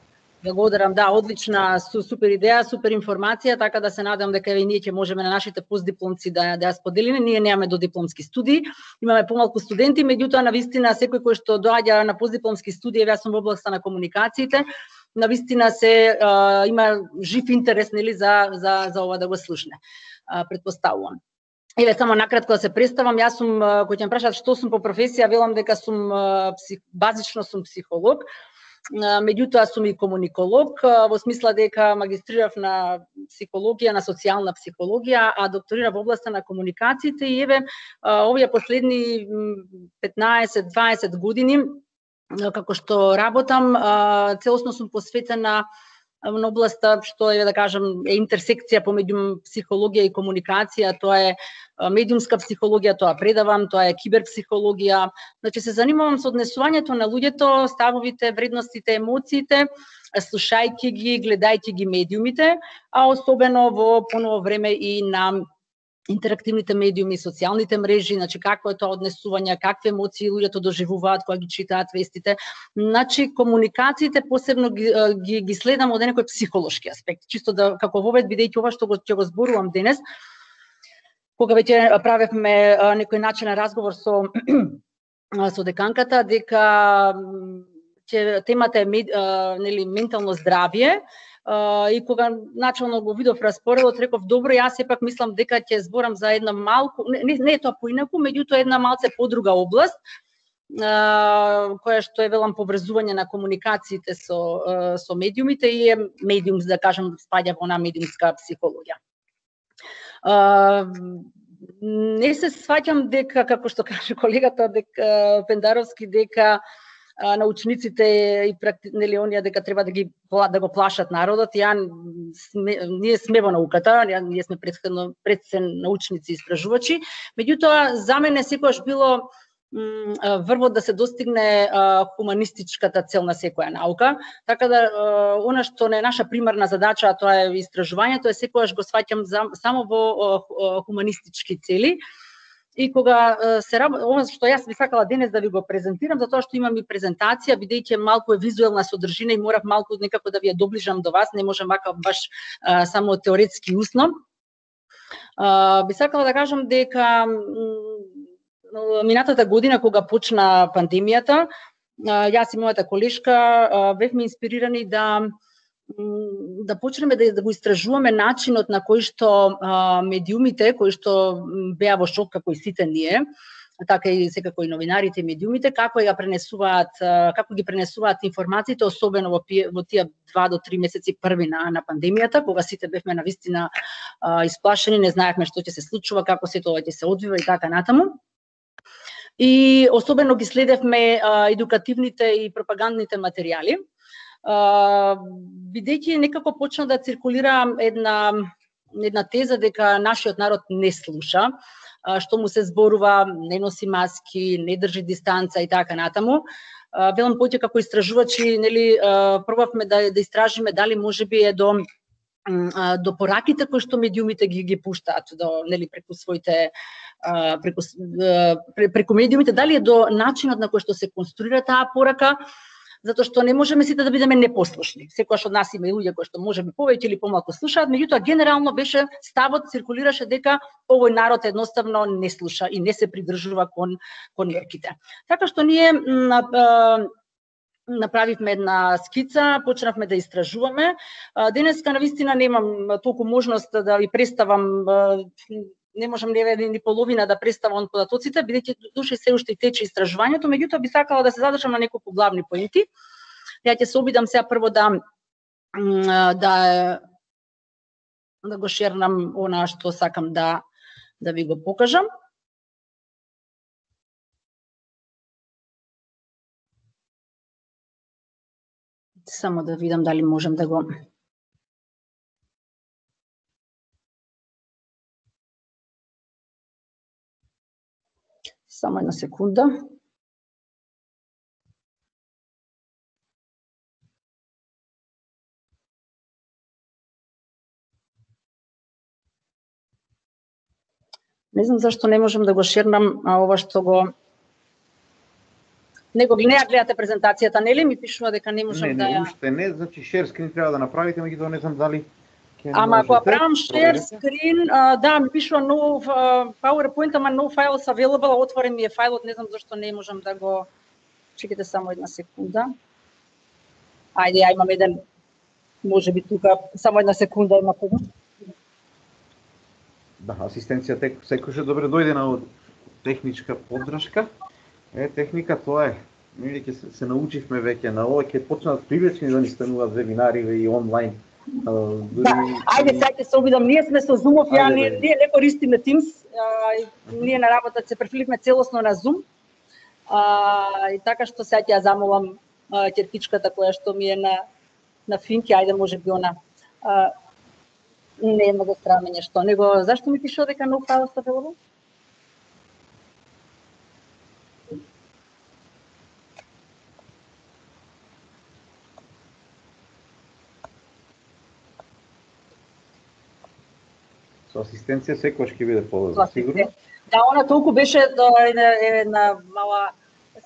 Благодарам, да, одлична, супер идеја, супер информација, така да се надам дека и ние ќе можеме на нашите постдипломци да да ја споделиме. Ние немаме додипломски студии, имаме помалку студенти, меѓутоа навистина секој кој што доаѓа на постдипломски студии, јас сум во областта на комуникациите, навистина се а, има жив интерес нели за за за ова да го слушне. А, предпоставувам. Еве само накратко да се представам, јас сум кој ќе ме прашаат што сум по професија, велам дека сум псих, базично сум психолог. Меѓутоа сум и комуниколог, во смисла дека магистрирав на психологија, на социјална психологија, а докторирав во областа на комуникациите и еве овие последни петнаесет-дваесет години како што работам, целосно сум посветена на областа што е да кажам е интерсекција помеѓу психологија и комуникација, тоа е медиумска психологија, тоа предавам, тоа е киберпсихологија. Значи се занимавам со однесувањето на луѓето, ставовите, вредностите, емоциите, слушајќи ги, гледајќи ги медиумите, а особено во поново време и на интерактивните медиуми, социјалните мрежи, значи какво е тоа однесување, какви емоции луѓето доживуваат кога ги читаат вестите. Значи комуникациите посебно ги, ги, ги следам од некој психолошки аспект, чисто да како вовед, бидејќи ова што го ќе го зборувам денес, кога веќе правевме некој начинен разговор со со деканката, дека ќе темата е нели ментално здравје, и кога начално го видов распоредот, реков добро, јас сепак мислам дека ќе зборам за една малку, не, не е тоа поинаку, меѓутоа една малце подруга област, која што е велам поврзување на комуникациите со со медиумите и е медиум, да кажам, спаѓа во на медиумска психологија. Не се сваќам дека, како што каже колегата дека Пендаровски, дека научниците и нели оние дека треба да ги да го плашат народот. Ја сме, ние сме во науката, ние сме претходно предсен научници и истражувачи, меѓутоа за мене секогаш било врвот да се достигне хуманистичката цел на секоја наука, така да она што не е наша примарна задача, а тоа е истражувањето, е секогаш го сваќам само во хуманистички цели. И кога се ова што јас би сакала денес да ви го презентирам, затоа што имам и презентација, бидејќи малку е визуелна содржина и морав малку некако да ви ја доближам до вас, не можам вака баш а, само теоретски усно. А, би сакала да кажам дека минатата година кога почна пандемијата, јас и мојата колешка бевме инспирирани да да почнеме да, да го истражуваме начинот на кој што а, медиумите, кои што беа во шок како и сите ние, така и секако и новинарите и медиумите, како ја пренесуваат, како ги пренесуваат информациите, особено во, во тие два до три месеци први на, на пандемијата, кога сите бевме навистина а, исплашени, не знаевме што ќе се случува, како се тоа ќе се одвива и така натаму. И особено ги следевме а, едукативните и пропагандните материјали, бидејќи некако почна да циркулира една една теза дека нашиот народ не слуша, што му се зборува, не носи маски, не држи дистанца и така натаму. Велам поќе како истражувачи, нели, пробавме да да истражиме дали можеби е до до пораките кои што медиумите ги ги пуштаат до, нели, преку своите преку преку медиумите, дали е до начинот на кој што се конструира таа порака, затоа што не можеме сите да бидеме непослушни. Секојаш од нас има и луѓе кои што можеби повеќе или помалку слушаат, меѓутоа генерално беше ставот циркулираше дека овој народ едноставно не слуша и не се придржува кон кон мерките. Така што ние направивме една скица, почнавме да истражуваме. Денеска навистина немам толку можност да ви представам, не можам ни, ни половина да представам податоците, бидејќи душе се уште и тече истражувањето, меѓутоа би сакала да се задржам на неколку главни поинти. Ја ќе се обидам сега прво да да да го шернам она што сакам да да ви го покажам. Само да видам дали можам да го Само една секунда. Не знам зашто не можам да го шернам, а ова што го Не го не ја гледате презентацијата, нели? Ми пишува дека не можам не, да ја... Не, уште не, значи share screen треба да направите, меѓутоа не знам дали ќе Ама ако правам share screen, да, ми пишува no PowerPoint, ама no files available, отворен ми е фајлот, не знам зашто не можам да го... Чекайте само една секунда. Ајде, ја имам еден, можеби тука, само една секунда има помош. Да, асистенција тек секојше добре дојде на техничка поддршка. Е, техника тоа е. Ние ќе се, се научивме веќе на ова, ќе почнат привлечени да ни стануваат вебинари и онлайн. Да, ајде сега ќе се обидам. Ние сме со Zoom-ов, ја ние, ние не користиме Teams. А, ние на работа се префрливме целосно на Zoom. А, и така што сега ќе ја замолам ќеркичката која што ми е на на финки, ајде можеби она а, не е многу странно нешто. Него зашто ми пишува дека no files available? Со асистенција секогаш ќе биде полезно, сигурно. Да, она толку беше една мала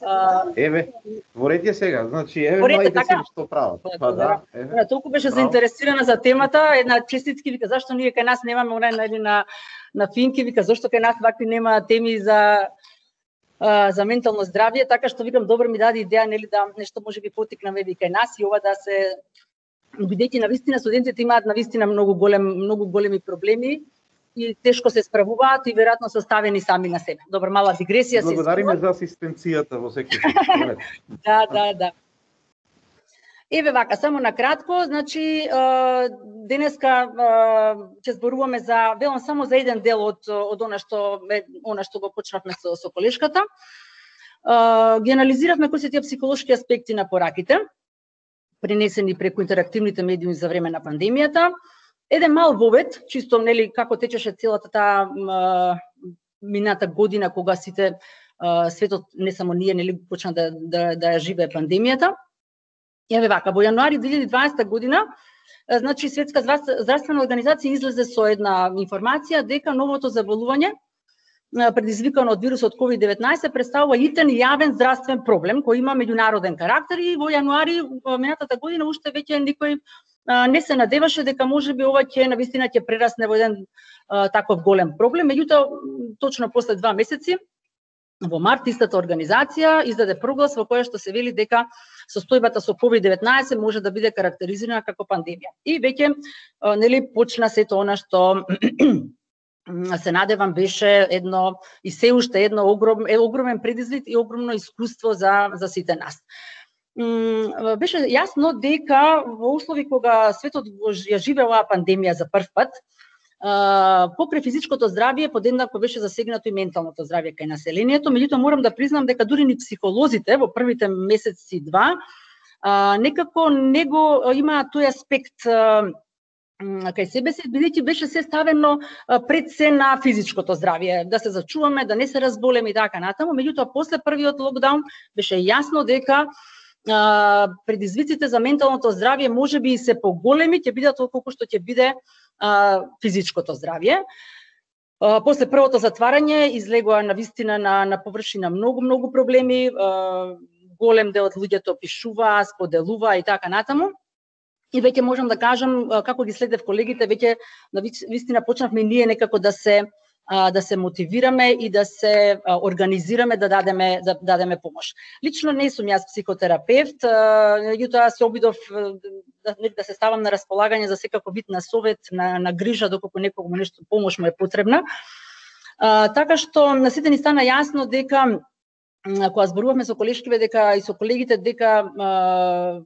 а... Еве, творете сега, значи еве младите се што прават. Па да, еве. Она толку беше Браво. Заинтересирана за темата, една честитки вика зашто ние кај нас немаме она нели на на финки, вика зашто кај нас вакви нема теми за а, за ментално здравје, така што викам добро ми даде идеја нели да нешто можеби потикнаме и кај нас и ова да се бидејќи навистина студентите имаат навистина многу голем многу големи проблеми и тешко се справуваат и веројатно се оставени сами на себе. Добро, мала дигресија се. Благодариме за асистенцијата во секој случај. Да, да, да. Еве вака, само на кратко, значи денеска ќе зборуваме за велам само за еден дел од од она што она што го почнавме со со колешката. Ги анализиравме кои се тие психолошки аспекти на пораките, пренесени преку интерактивните медиуми за време на пандемијата. Еден мал вовед, чисто нели како течеше целата таа мината година кога сите а, светот, не само ние, нели почна да да да ја живее пандемијата. Еве вака, во јануари две илјади и дваесета година, значи Светска здравствена организација излезе со една информација дека новото заболување предизвикано од вирусот ковид деветнаесет представува итен јавен здравствен проблем кој има меѓународен карактер и во јануари минатата година уште веќе никој не се надеваше дека можеби ова ќе навистина ќе прерасне во еден а, таков голем проблем. Меѓутоа, точно после два месеци, во март, истата организација издаде проглас во која што се вели дека состојбата со ковид деветнаесет може да биде карактеризирана како пандемија. И веќе а, нели почна сето она што се надевам беше едно и се уште едно огром, е огромен предизвик и огромно искуство за за сите нас. Беше јасно дека во услови кога светот ја живее оваа пандемија за прв пат, покрај физичкото здравје подеднакво беше засегнато и менталното здравје кај населението, меѓутоа морам да признам дека дури ни психолозите во првите месеци два некако него има тој аспект кај себе се, бидејќи беше се ставено пред се на физичкото здравје, да се зачуваме, да не се разболеме и така натаму, меѓутоа после првиот локдаун беше јасно дека Uh, предизвиците за менталното здравје можеби и се поголеми, ќе бидат отколку што ќе биде uh, физичкото здравје. Uh, после првото затварање излегоа навистина на на површина многу многу проблеми, uh, голем дел од луѓето опишуваа, споделуваа и така натаму. И веќе можам да кажам како ги следев колегите, веќе навистина почнавме и ние некако да се да се мотивираме и да се организираме да дадеме да дадеме помош. Лично не сум јас психотерапевт, меѓутоа се обидов да, да се ставам на располагање за секако вид на совет, на, на грижа доколку некому нешто помош му е потребна. А, така што на сите ни стана јасно дека кога зборувавме со колешкиве дека и со колегите дека а,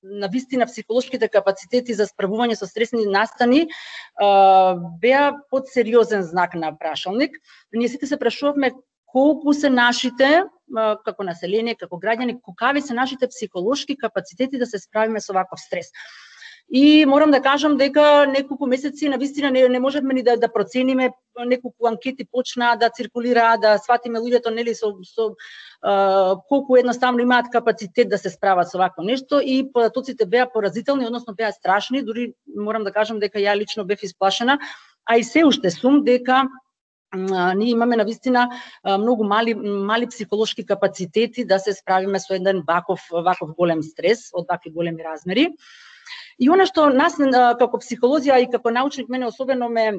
на вистина психолошките капацитети за справување со стресни настани а, беа под сериозен знак на прашалник. Ние сите се прашувавме колку се нашите, а, како население, како граѓани, какви се нашите психолошки капацитети да се справиме со ваков стрес. И морам да кажам дека неколку месеци на вистина не, не можевме ни да, да процениме, неколку анкети почнаа да циркулираат, да сватиме луѓето нели со, со а, колку едноставно имаат капацитет да се справат со вакво нешто и податоците беа поразителни, односно беа страшни, дури морам да кажам дека ја лично бев исплашена, а и се уште сум дека а, ние имаме навистина многу мали мали психолошки капацитети да се справиме со еден ваков ваков голем стрес од вакви големи размери. И она што нас како психолозија и како научник мене особено ме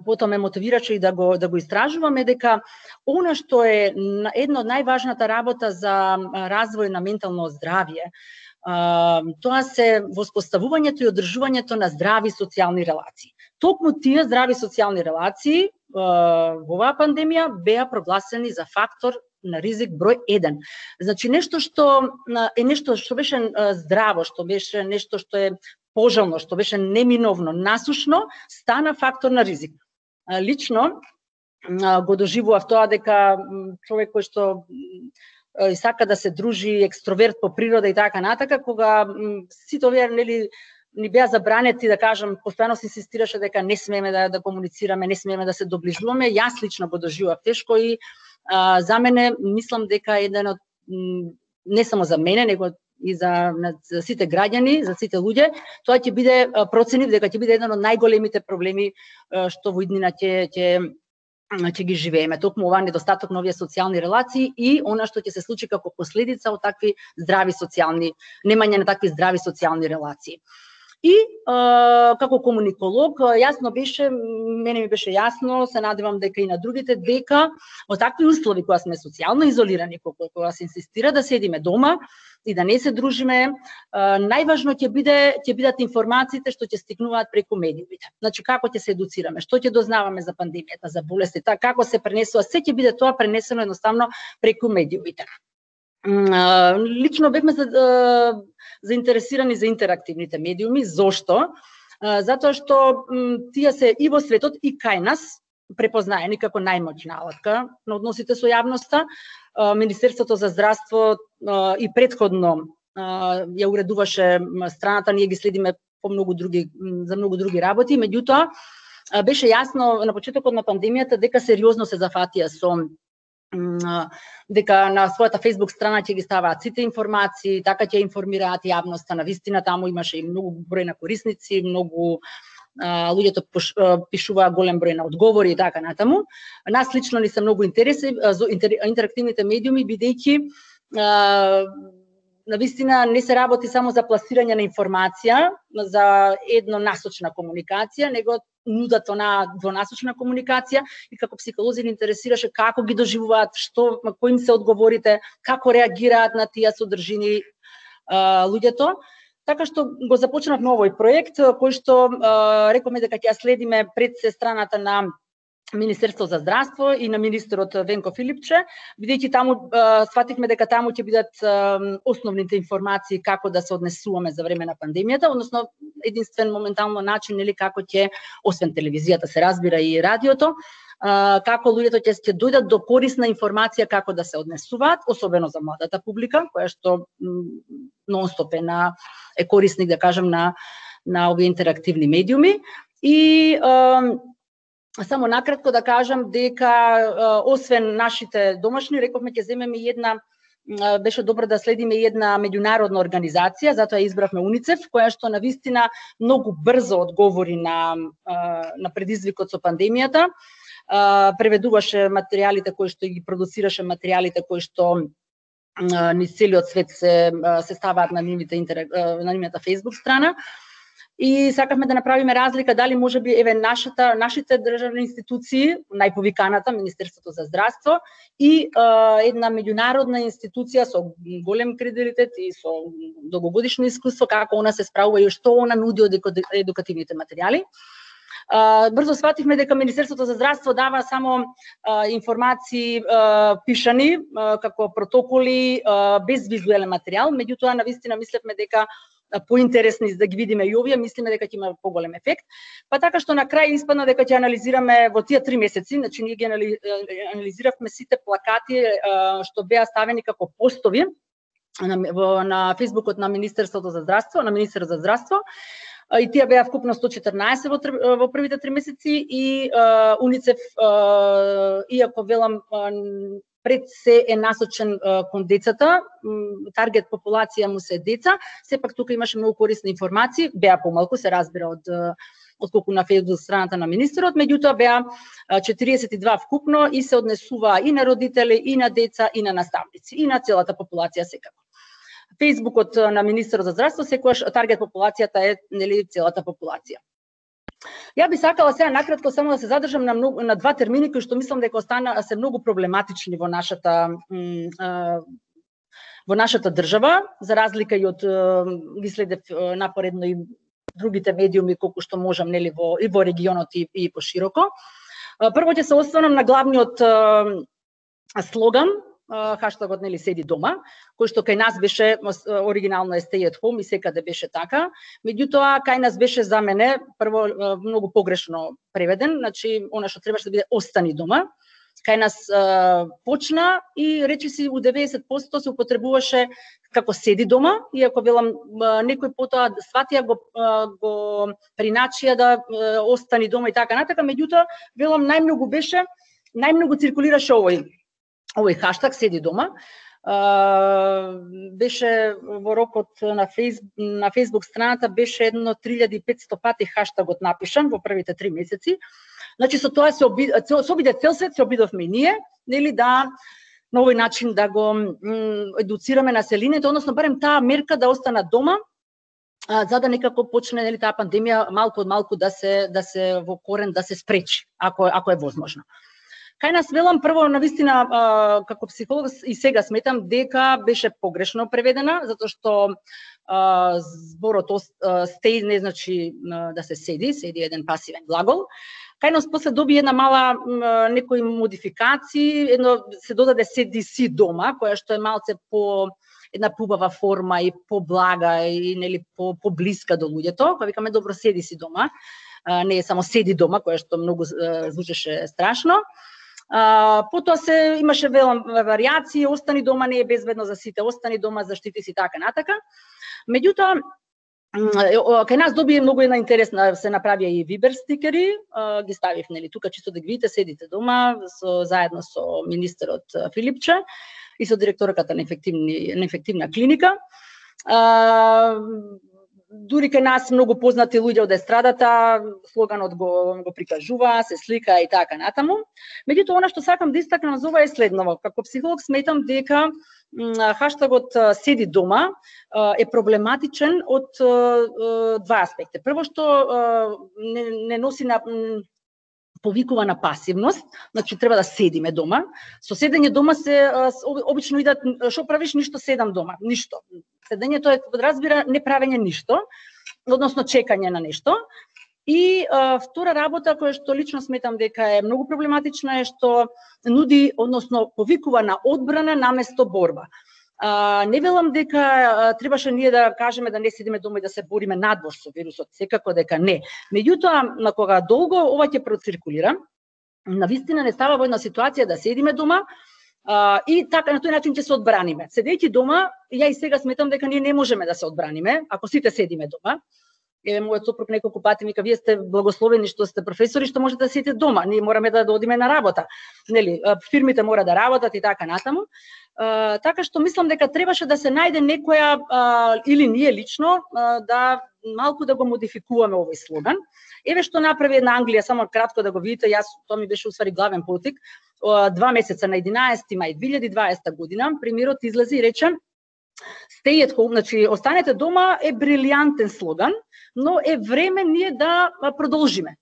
потоа ме мотивираше и да го да го истражуваме дека она што е една од најважната работа за развој на ментално здравје, тоа се воспоставувањето и одржувањето на здрави социјални релации. Токму тие здрави социјални релации во оваа пандемија беа прогласени за фактор на ризик број еден. Значи нешто што е нешто што беше здраво, што беше нешто што е пожелно, што беше неминовно, насушно, стана фактор на ризик. Лично го доживував тоа дека човек кој што сака да се дружи, екстроверт по природа и така натака, кога сите овие нели ни беа забранети, да кажам, постојано се инсистираше дека не смееме да, да комуницираме, не смееме да се доближуваме. Јас лично го доживував тешко и а, за мене мислам дека еден од не само за мене, него и за, за сите граѓани, за сите луѓе, тоа ќе биде проценив дека ќе биде еден од најголемите проблеми што во иднина ќе ќе ќе ги живееме. Токму ова недостаток на овие социјални релации и она што ќе се случи како последица од такви здрави социјални, немање на такви здрави социјални релации. И е, како комуниколог, јасно беше, мене ми беше јасно, се надевам дека и на другите, дека во такви услови кога сме социјално изолирани, кога, кога се инсистира да седиме дома и да не се дружиме, е, најважно ќе биде ќе бидат информациите што ќе стигнуваат преку медиумите. Значи како ќе се едуцираме, што ќе дознаваме за пандемијата, за болестите, како се пренесува, се ќе биде тоа пренесено едноставно преку медиумите. Лично бевме за, заинтересирани за интерактивните медиуми. Зошто? Затоа што тие се и во светот и кај нас препознаени како најмоćна алатка на односите со јавноста. Министерството за здравство и предходно ја уредуваше страната, ние ги следиме по многу други за многу други работи, меѓутоа беше јасно на почетокот на пандемијата дека сериозно се зафатија со дека на својата Facebook страна ќе ги ставаат сите информации, така ќе информираат јавноста. Навистина таму имаше и многу број на корисници, многу а, луѓето пишуваа голем број на одговори и така натаму. Нас лично ни се многу интереси за интерактивните медиуми, бидејќи навистина не се работи само за пласирање на информација, за еднонасочна комуникација, него нудат она двонасочна комуникација и како психолози ни интересираше како ги доживуваат, што кои им се одговорите, како реагираат на тие содржини а, луѓето. Така што го започнавме овој проект кој што а, рековме дека ќе ја следиме пред се страната на Министерство за здравство и на министерот Венко Филипче, бидејќи таму а, свативме дека таму ќе бидат а, основните информации како да се однесуваме за време на пандемијата, односно единствен моментално начин нели како ќе, освен телевизијата се разбира и радиото, а, како луѓето ќе ќе дојдат до корисна информација како да се однесуваат, особено за младата публика, која што нонстоп е на е корисник да кажам на на овие интерактивни медиуми. И а, само накратко да кажам дека освен нашите домашни, рековме ќе земеме една, беше добро да следиме една меѓународна организација, затоа избравме УНИЦЕФ, која што навистина многу брзо одговори на на предизвикот со пандемијата. Преведуваше материјалите кои што ги продуцираше, материјалите кои што низ целиот свет се се ставаат на нивните на нивната Facebook страна. И сакавме да направиме разлика дали можеби еве нашата нашите државни институции, најповиканата Министерството за здравство и е, една меѓународна институција со голем кредитет и со долгогодишно искуство, како она се справува и што она нуди од едукативните материјали. Uh, брзо свативме дека Министерството за здравство дава само uh, информации uh, пишани uh, како протоколи uh, без визуелен материјал, меѓутоа навистина мислевме дека uh, поинтересни да ги видиме и овие, мислиме дека ќе има поголем ефект. Па така што на крај испадна дека ќе анализираме во тие три месеци, значи ние ги анализиравме сите плакати uh, што беа ставени како постови на, на Фејсбукот на Министерството за здравство, на министерот за здравство. И тие беа вкупно сто четрнаесет во, во првите три месеци и uh, УНИЦЕФ, uh, иако велам uh, пред се е насочен uh, кон децата, таргет популација му се деца, сепак тука имаше многу корисни информации, беа помалку, се разбира од uh, отколку на Facebook страната на министерот, меѓутоа беа четириесет и два вкупно и се однесува и на родители, и на деца, и на наставници, и на целата популација секако. Фејсбукот на Министерот за здравство секогаш таргет популацијата е нели целата популација. Ја би сакала сега накратко само да се задржам на многу, на два термини кои што мислам дека остана се многу проблематични во нашата во нашата држава, за разлика и од ги следев напоредно и другите медиуми колку што можам нели во и во регионот и, и пошироко. Прво ќе се останам на главниот слоган, хаштагот нели седи дома, кој што кај нас беше оригинално е stay at home и секаде беше така. Меѓутоа кај нас беше за мене прво многу погрешно преведен, значи она што требаше да биде остани дома. Кај нас а, почна и речиси у деветдесет проценти се употребуваше како седи дома, иако велам некој потоа сватија го го приначија да а, остани дома и така натака, меѓутоа велам најмногу беше најмногу циркулираше овој овој хаштаг седи дома. Uh, беше во рокот на фейс на Facebook страната беше едно три илјади и петсто пати хаштагот напишан во првите три месеци. Значи со тоа се оби, се обиде цел свет, се обидовме и ние, нели да на овој начин да го едуцираме населението, односно барем таа мерка да остана дома, а, за да некако почне нели таа пандемија малку од малку да се да се во корен да се спречи, ако ако е возможно. Кај нас велам прво навистина а, како психолог и сега сметам дека беше погрешно преведена, затоа што а, зборот stay не значи а, да се седи, седи еден пасивен глагол. Кај нас после доби една мала м, некои модификации, едно се додаде седи си дома, која што е малце по една побава форма и поблага и нели по поблиска до луѓето, кога викаме добро седи си дома, а, не е само седи дома, која што многу а, звучеше страшно. А, потоа се имаше велам варијации, остани дома не е безбедно за сите, остани дома заштити си така натака. Меѓутоа кај нас доби многу една интересна, се направија и вибер стикери, ги ставив нели тука чисто да ги видите, седите дома со заедно со министерот Филипче и со директорката на ефективни на ефективна клиника. А, дури кај нас многу познати луѓе од естрадата, слоганот го го прикажува, се слика и така натаму. Меѓутоа она што сакам да истакнам за ова е следново. Како психолог сметам дека хаштагот седи дома е проблематичен од два аспекта. Прво што не, не носи на повикува на пасивност, значи треба да седиме дома. Со седење дома се обично идат што правиш, ништо седам дома, ништо. Седењето е подразбира неправење ништо, односно чекање на нешто. И а, втора работа која што лично сметам дека е многу проблематична е што нуди, односно повикува на одбрана наместо борба. А, не велам дека а, требаше ние да кажеме да не седиме дома и да се бориме надвор со вирусот, секако дека не. Меѓутоа, на кога долго ова ќе проциркулира, навистина не става во една ситуација да седиме дома а, и така на тој начин ќе се одбраниме. Седејќи дома, ја и сега сметам дека ние не можеме да се одбраниме, ако сите седиме дома. Еве мојот сопруг неколку пати вика вие сте благословени што сте професори што можете да седите дома. Ние мораме да одиме на работа. Нели, фирмите мора да работат и така натаму. Uh, така што мислам дека требаше да се најде некоја uh, или ние лично uh, да малку да го модификуваме овој слоган. Еве што направи една Англија, само кратко да го видите, јас тоа ми беше усвари главен потик. Uh, два месеца на единаесети мај две илјади и дваесета година премиерот излезе и рече Stay at home, значи останете дома е брилијантен слоган, но е време ние да продолжиме.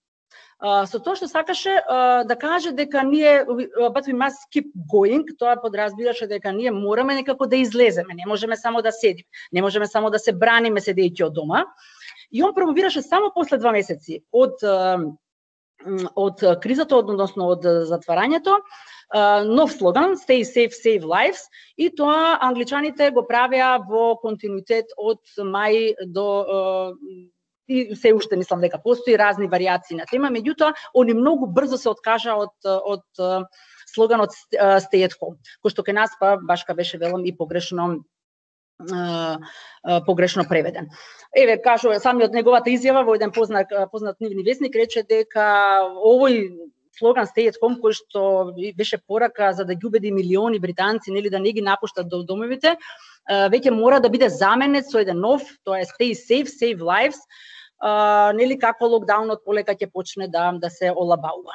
Uh, со тоа што сакаше uh, да каже дека ние but we must keep going, тоа подразбираше дека ние мораме некако да излеземе, не можеме само да седиме, не можеме само да се браниме седејќи од дома. И он промовираше само после два месеци од uh, од кризата, односно од затварањето, uh, нов слоган Stay safe, save lives, и тоа англичаните го правеа во континуитет од мај до uh, и се уште мислам дека постои разни варијации на тема, меѓутоа они многу брзо се откажа од од слоганот Stay at home, кој што кај нас па башка беше велам и погрешно погрешно преведен. Еве кажува самиот неговата изјава во еден познат познат нивни весник рече дека овој слоган Stay at home кој што беше порака за да ги убеди милиони британци нели да не ги напуштат до домовите, веќе мора да биде заменет со еден нов, тоа е Stay safe, save lives. Uh, нели како локдаунот полека ќе почне да да се олабаува.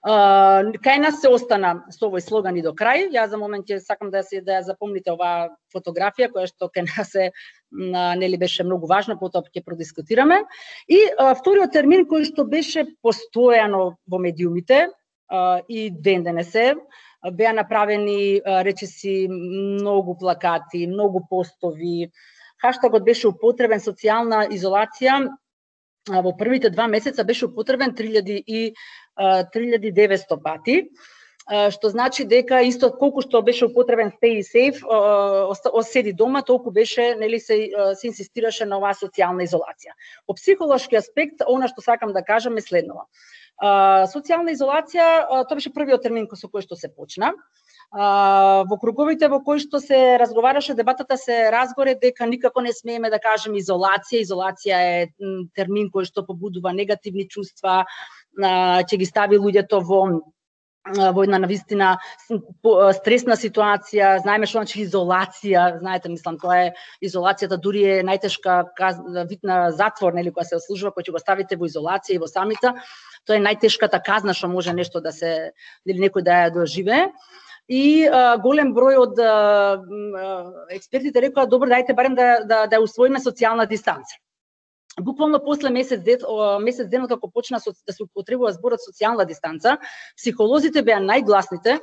Uh, кај нас се остана со овој слоган и до крај. Јас за момент ќе сакам да се да ја запомните оваа фотографија која што кај нас се нели беше многу важна, потоа ќе продискутираме. И uh, вториот термин кој што беше постојано во медиумите uh, и ден денесе беа направени uh, речиси многу плакати, многу постови. Хаштагот беше употребен социјална изолација во првите два месеца беше употребен три илјади и деветсто пати, што значи дека исто колку што беше употребен Stay safe, седи дома, толку беше нели се се инсистираше на оваа социјална изолација. По психолошки аспект, она што сакам да кажам е следново. Социјална изолација, тоа беше првиот термин со кој што се почна. Uh, во круговите во кои што се разговараше, дебатата се разгоре дека никако не смееме да кажеме изолација. Изолација е термин кој што побудува негативни чувства, uh, ќе ги стави луѓето во во една навистина стресна ситуација, знаеме што значи изолација, знаете, мислам, тоа е изолацијата дури е најтешка вид на затвор, нели, која се ослужува, кој ќе го ставите во изолација и во самица, тоа е најтешката казна што може нешто да се, нели, некој да ја доживее. И а, голем број од а, експертите рекоа, добро, дајте барем да да да усвоиме социјална дистанца. Буквално после месец ден, месец ден како почна да се употребува зборот социјална дистанца, психолозите беа најгласните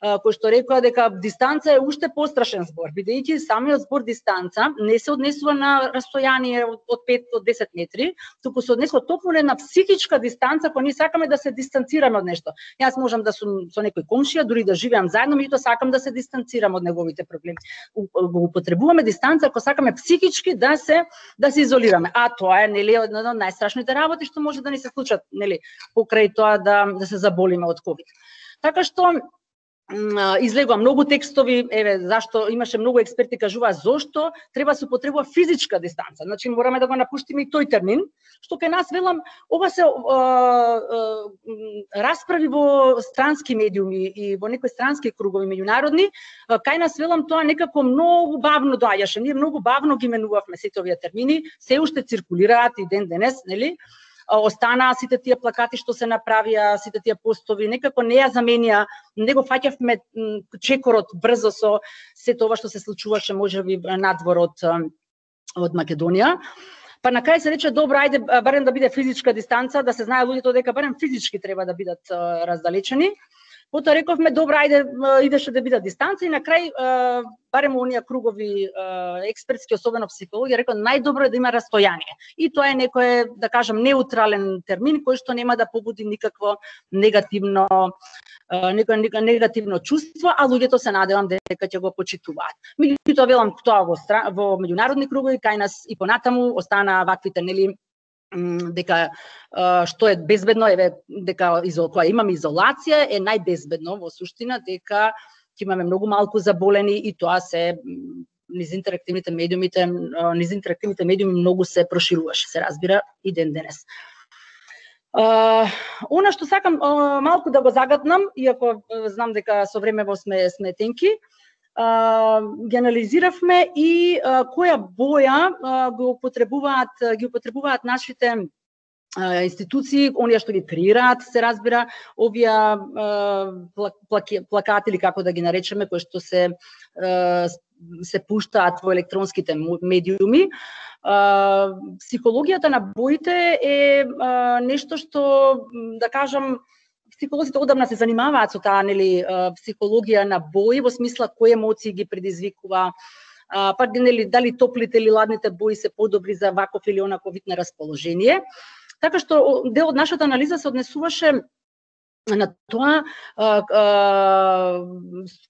кои што рекоа дека дистанца е уште пострашен збор, бидејќи самиот збор дистанца не се однесува на растојание од пет до десет метри, туку се однесува токму на психичка дистанца, кога ние сакаме да се дистанцираме од нешто. Јас можам да сум со некој комшија, дури да живеам заедно, меѓутоа сакам да се дистанцирам од неговите проблеми. Го употребуваме дистанца ако сакаме психички да се да се изолираме. А тоа е, нели, една од најстрашните работи што може да ни се случат, нели, покрај тоа да да се заболиме од ковид. Така што излегува многу текстови, еве зашто имаше многу експерти кажуваа зошто треба се употребува физичка дистанца. Значи мораме да го напуштиме и тој термин, што кај нас велам ова се а, а, расправи во странски медиуми и во некои странски кругови меѓународни, кај нас велам тоа некако многу бавно доаѓаше. Ние многу бавно ги менувавме сите овие термини, се уште циркулираат и ден денес, нели? Останаа сите тие плакати што се направија, сите тие постови, некако не ја заменија, не го фаќавме чекорот брзо со се тоа што се случуваше можеби надвор од од Македонија. Па на крај се рече добро, ајде барем да биде физичка дистанца, да се знае луѓето дека барем физички треба да бидат раздалечени. Потоа рековме добро, ајде идеше да биде дистанца и на крај барем оние кругови експертски, особено психологија, рекоа најдобро е да има растојание. И тоа е некој, да кажам, неутрален термин кој што нема да побуди никакво негативно некој негативно чувство, а луѓето се надевам дека ќе го почитуваат. Меѓутоа велам тоа во во меѓународни кругови кај нас и понатаму останаа ваквите, нели, дека што е безбедно, еве дека кога имаме изолација е најбезбедно во суштина, дека ќе имаме многу малку заболени и тоа се низ интерактивните медиумите, низ интерактивните медиуми многу се прошируваше, се разбира и ден денес. Uh, она што сакам uh, малку да го загатнам, иако знам дека со времево сме сме тенки, Uh, ги анализиравме и uh, која боја uh, го употребуваат ги употребуваат нашите uh, институции, оние што ги креираат, се разбира, овие uh, плаки, плакати или како да ги наречеме, кои што се uh, се пуштаат во електронските медиуми. Uh, психологијата на боите е uh, нешто што, да кажам, психолозите одамна се занимаваат со таа, нели, психологија на бои, во смисла кои емоции ги предизвикува, па нели дали топлите или ладните бои се подобри за ваков или онаков вид на расположение. Така што дел од нашата анализа се однесуваше на тоа а, а,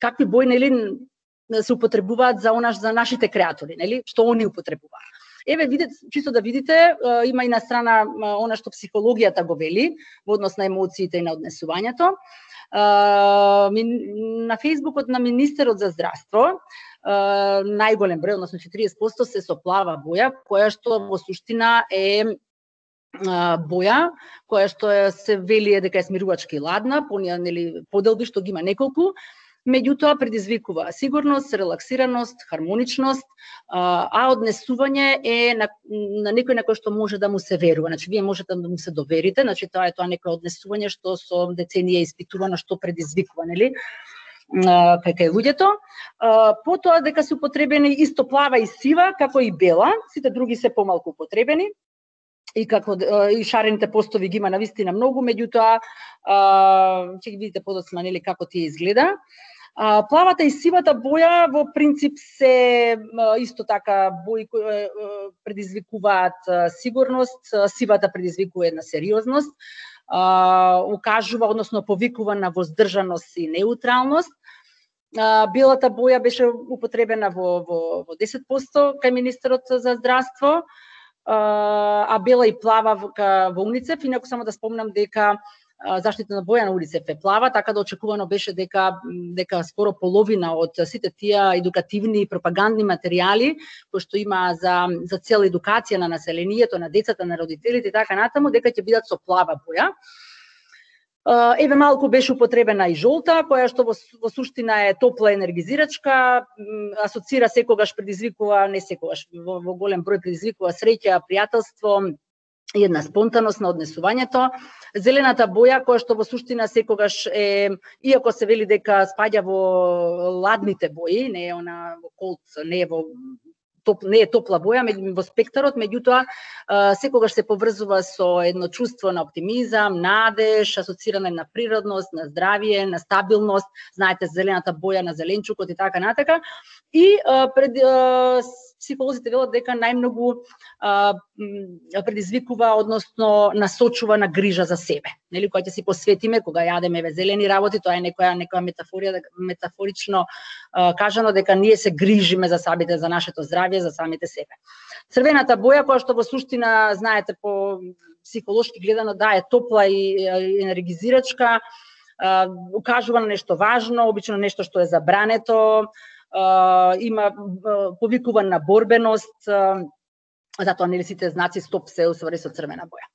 какви бои, нели, се употребуваат за онаш за нашите креатори, нели, што они употребуваат. Еве, видете, чисто да видите, има и на страна она што психологијата го вели во однос на емоциите и на однесувањето. На Фејсбукот на Министерот за здравство најголем број, односно четириесет проценти се со плава боја, која што во суштина е боја, која што се вели дека е смирувачка и ладна, понија, нели, поделби што ги има неколку. Меѓутоа предизвикува сигурност, релаксираност, хармоничност, а однесување е на, на некој на кој што може да му се верува. Значи, вие можете да му се доверите, значи тоа е тоа некој однесување што со деценија е испитувано што предизвикува, нели, кај кај луѓето. Потоа дека се употребени исто плава и сива, како и бела, сите други се помалку употребени. И како и шарените постови ги има навистина многу, меѓутоа ќе ги видите подоцна, нели, како тие изгледа. А, плавата и сивата боја во принцип се исто така бои кои предизвикуваат сигурност, сивата предизвикува една сериозност, а, укажува, односно повикува на воздржаност и неутралност. А, белата боја беше употребена во, во, во десет проценти кај Министерот за здравство, а бела и плава во УНИЦЕФ, инаку само да спомнам дека заштитна боја на УНИЦЕФ е плава, така да очекувано беше дека дека скоро половина од сите тие едукативни и пропагандни материјали кои што има за за цела едукација на населението, на децата, на родителите и така натаму, дека ќе бидат со плава боја. Еве малку беше употребена и жолта, која што во, во суштина е топла енергизирачка, асоцира секогаш, предизвикува, не секогаш, во, во голем број предизвикува среќа, пријателство и една спонтаност на однесувањето. Зелената боја, која што во суштина секогаш е, иако се вели дека спаѓа во ладните бои, не е она во колд, не е во топ, не е топла боја во спектарот, меѓутоа секогаш се поврзува со едно чувство на оптимизам, надеж, асоциране на природност, на здравје, на стабилност. Знаете, зелената боја на зеленчукот и така натака. И пред психолозите велат дека најмногу предизвикува, односно насочува на грижа за себе. Нели, кога ќе си посветиме, кога јадеме ве зелени работи, тоа е некоја некоја метафорија, метафорично а, кажано дека ние се грижиме за самите, за нашето здравје, за самите себе. Црвената боја, која што во суштина, знаете, по психолошки гледано, да, е топла и енергизирачка, а, укажува на нешто важно, обично нешто што е забрането, а, има а, повикува на борбеност, а, затоа нели сите знаци стоп се усвари со црвена боја.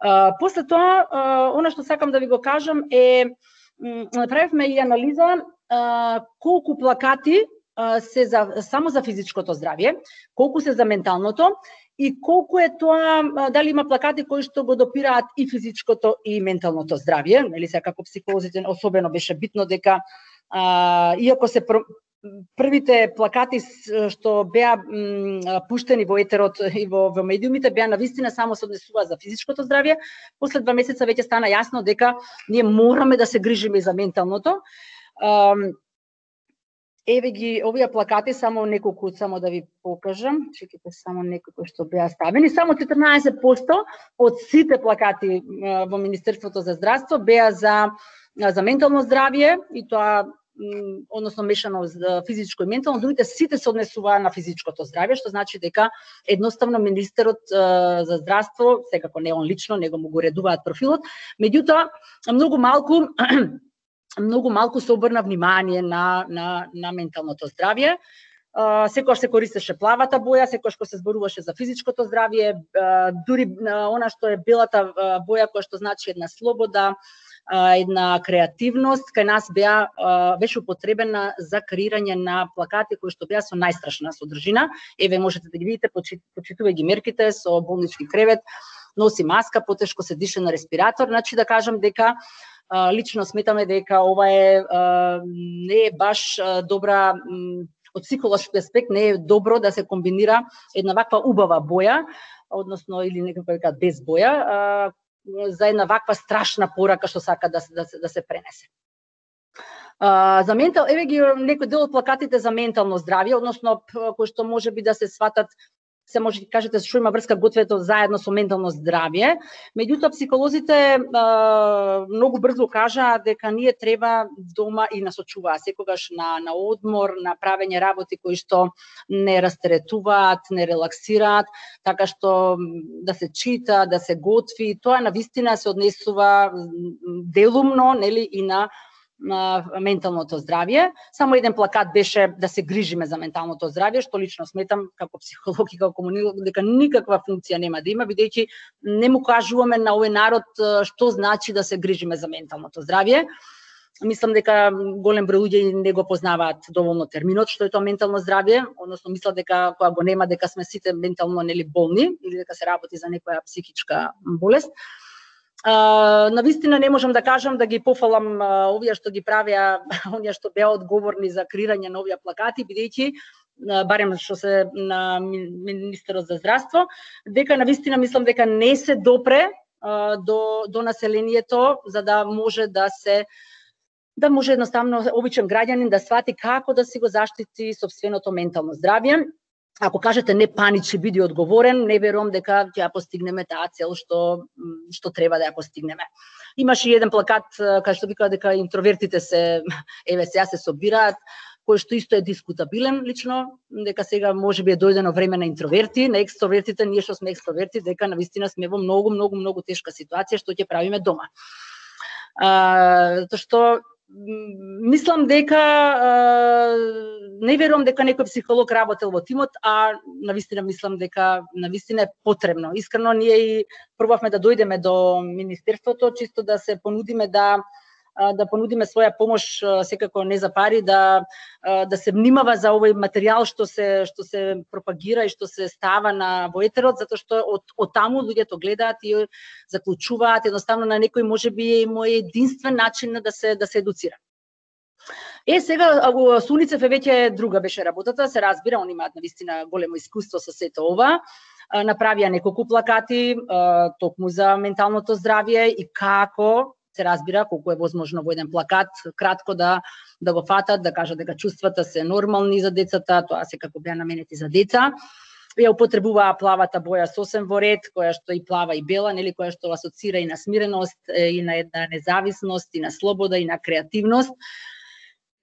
Uh, после тоа, uh, она што сакам да ви го кажам е, направивме и анализа uh, колку плакати uh, се за, само за физичкото здравје, колку се за менталното и колку е тоа, uh, дали има плакати кои што го допираат и физичкото и менталното здравје. Нели, сега како психолозите особено беше битно дека uh, иако се првите плакати што беа пуштени во етерот и во, во медиумите беа навистина само се однесува за физичкото здравје, после два месеца веќе стана јасно дека ние мораме да се грижиме за менталното. Еве ги овие плакати, само неколку, само да ви покажам, чекайте само неколку што беа ставени, само четрнаесет проценти од сите плакати во Министерството за здравство беа за за ментално здравје и тоа односно мешано физичко и ментално, другите сите се однесуваа на физичкото здравје, што значи дека едноставно министерот за здравство, секако не он лично, него му го редуваат профилот, меѓутоа многу малку многу малку се обрна внимание на на на менталното здравје. Uh, секогаш се користеше плавата боја, секогаш кога се зборуваше за физичкото здравје, uh, дури uh, она што е белата uh, боја, која што значи една слобода, uh, една креативност, кај нас беа, uh, беше употребена за креирање на плакати кои што беа со најстрашна содржина. Еве можете да ги видите, почитувај ги мерките со болнички кревет, носи маска, потешко се дише на респиратор, значи да кажам дека uh, лично сметаме дека ова е uh, не е баш uh, добра од психолошки аспект, не е добро да се комбинира една ваква убава боја, односно или некако дека без боја, а, за една ваква страшна порака што сака да, да, да се пренесе. А, за ментал, еве ги некој дел од плакатите за ментално здравје, односно кои што може би да се сватат, се може да кажете што има врска гответо заедно со ментално здравје, меѓутоа психолозите а, многу брзо кажаа дека ние треба дома и насочуваа секогаш на на одмор, на правење работи кои што не растеретуваат, не релаксираат, така што да се чита, да се готви, тоа навистина се однесува делумно, нели, и на на менталното здравје. Само еден плакат беше да се грижиме за менталното здравје, што лично сметам како психолог и како комунилог дека никаква функција нема да има, бидејќи не му кажуваме на овој народ што значи да се грижиме за менталното здравје. Мислам дека голем број луѓе не го познаваат доволно терминот што е тоа ментално здравје, односно мислат дека кога го нема дека сме сите ментално нели болни или дека се работи за некоја психичка болест. Uh, навистина не можам да кажам да ги пофалам uh, овие што ги правеа, оние што беа одговорни за креирање на овие плакати, бидејќи uh, барем што се на Министерот за здравство, дека навистина мислам дека не се допре uh, до до населението за да може да се да може едноставно обичен граѓанин да свати како да си го заштити сопственото ментално здравје. Ако кажете не паничи, биди одговорен, не верувам дека ќе ја постигнеме таа цел што што треба да ја постигнеме. Имаше и еден плакат кај што вика дека интровертите се еве сега се собираат, кој што исто е дискутабилен лично, дека сега можеби е дојдено време на интроверти, на екстровертите, ние што сме екстроверти, дека навистина сме во многу многу многу тешка ситуација што ќе правиме дома. А, тоа што мислам дека не верувам дека некој психолог работел во тимот, а навистина мислам дека навистина е потребно. Искрено ние и пробавме да дојдеме до министерството чисто да се понудиме да да понудиме своја помош, секако не за пари, да да се внимава за овој материјал што се што се пропагира и што се става на во етерот, затоа што од од таму луѓето гледаат и заклучуваат, едноставно на некој можеби е мој единствен начин да се да се едуцира. Е, сега со Уницеф веќе друга беше работата, се разбира, они имаат навистина големо искуство со сето ова. Направија неколку плакати токму за менталното здравје и како се разбира колку е возможно во еден плакат кратко да да го фатат, да кажат дека чувствата се нормални за децата, тоа секако беа наменети за деца. Ја употребуваа плавата боја сосем во ред, која што и плава и бела, нели, која што асоцира и на смиреност, и на една независност, и на слобода, и на креативност,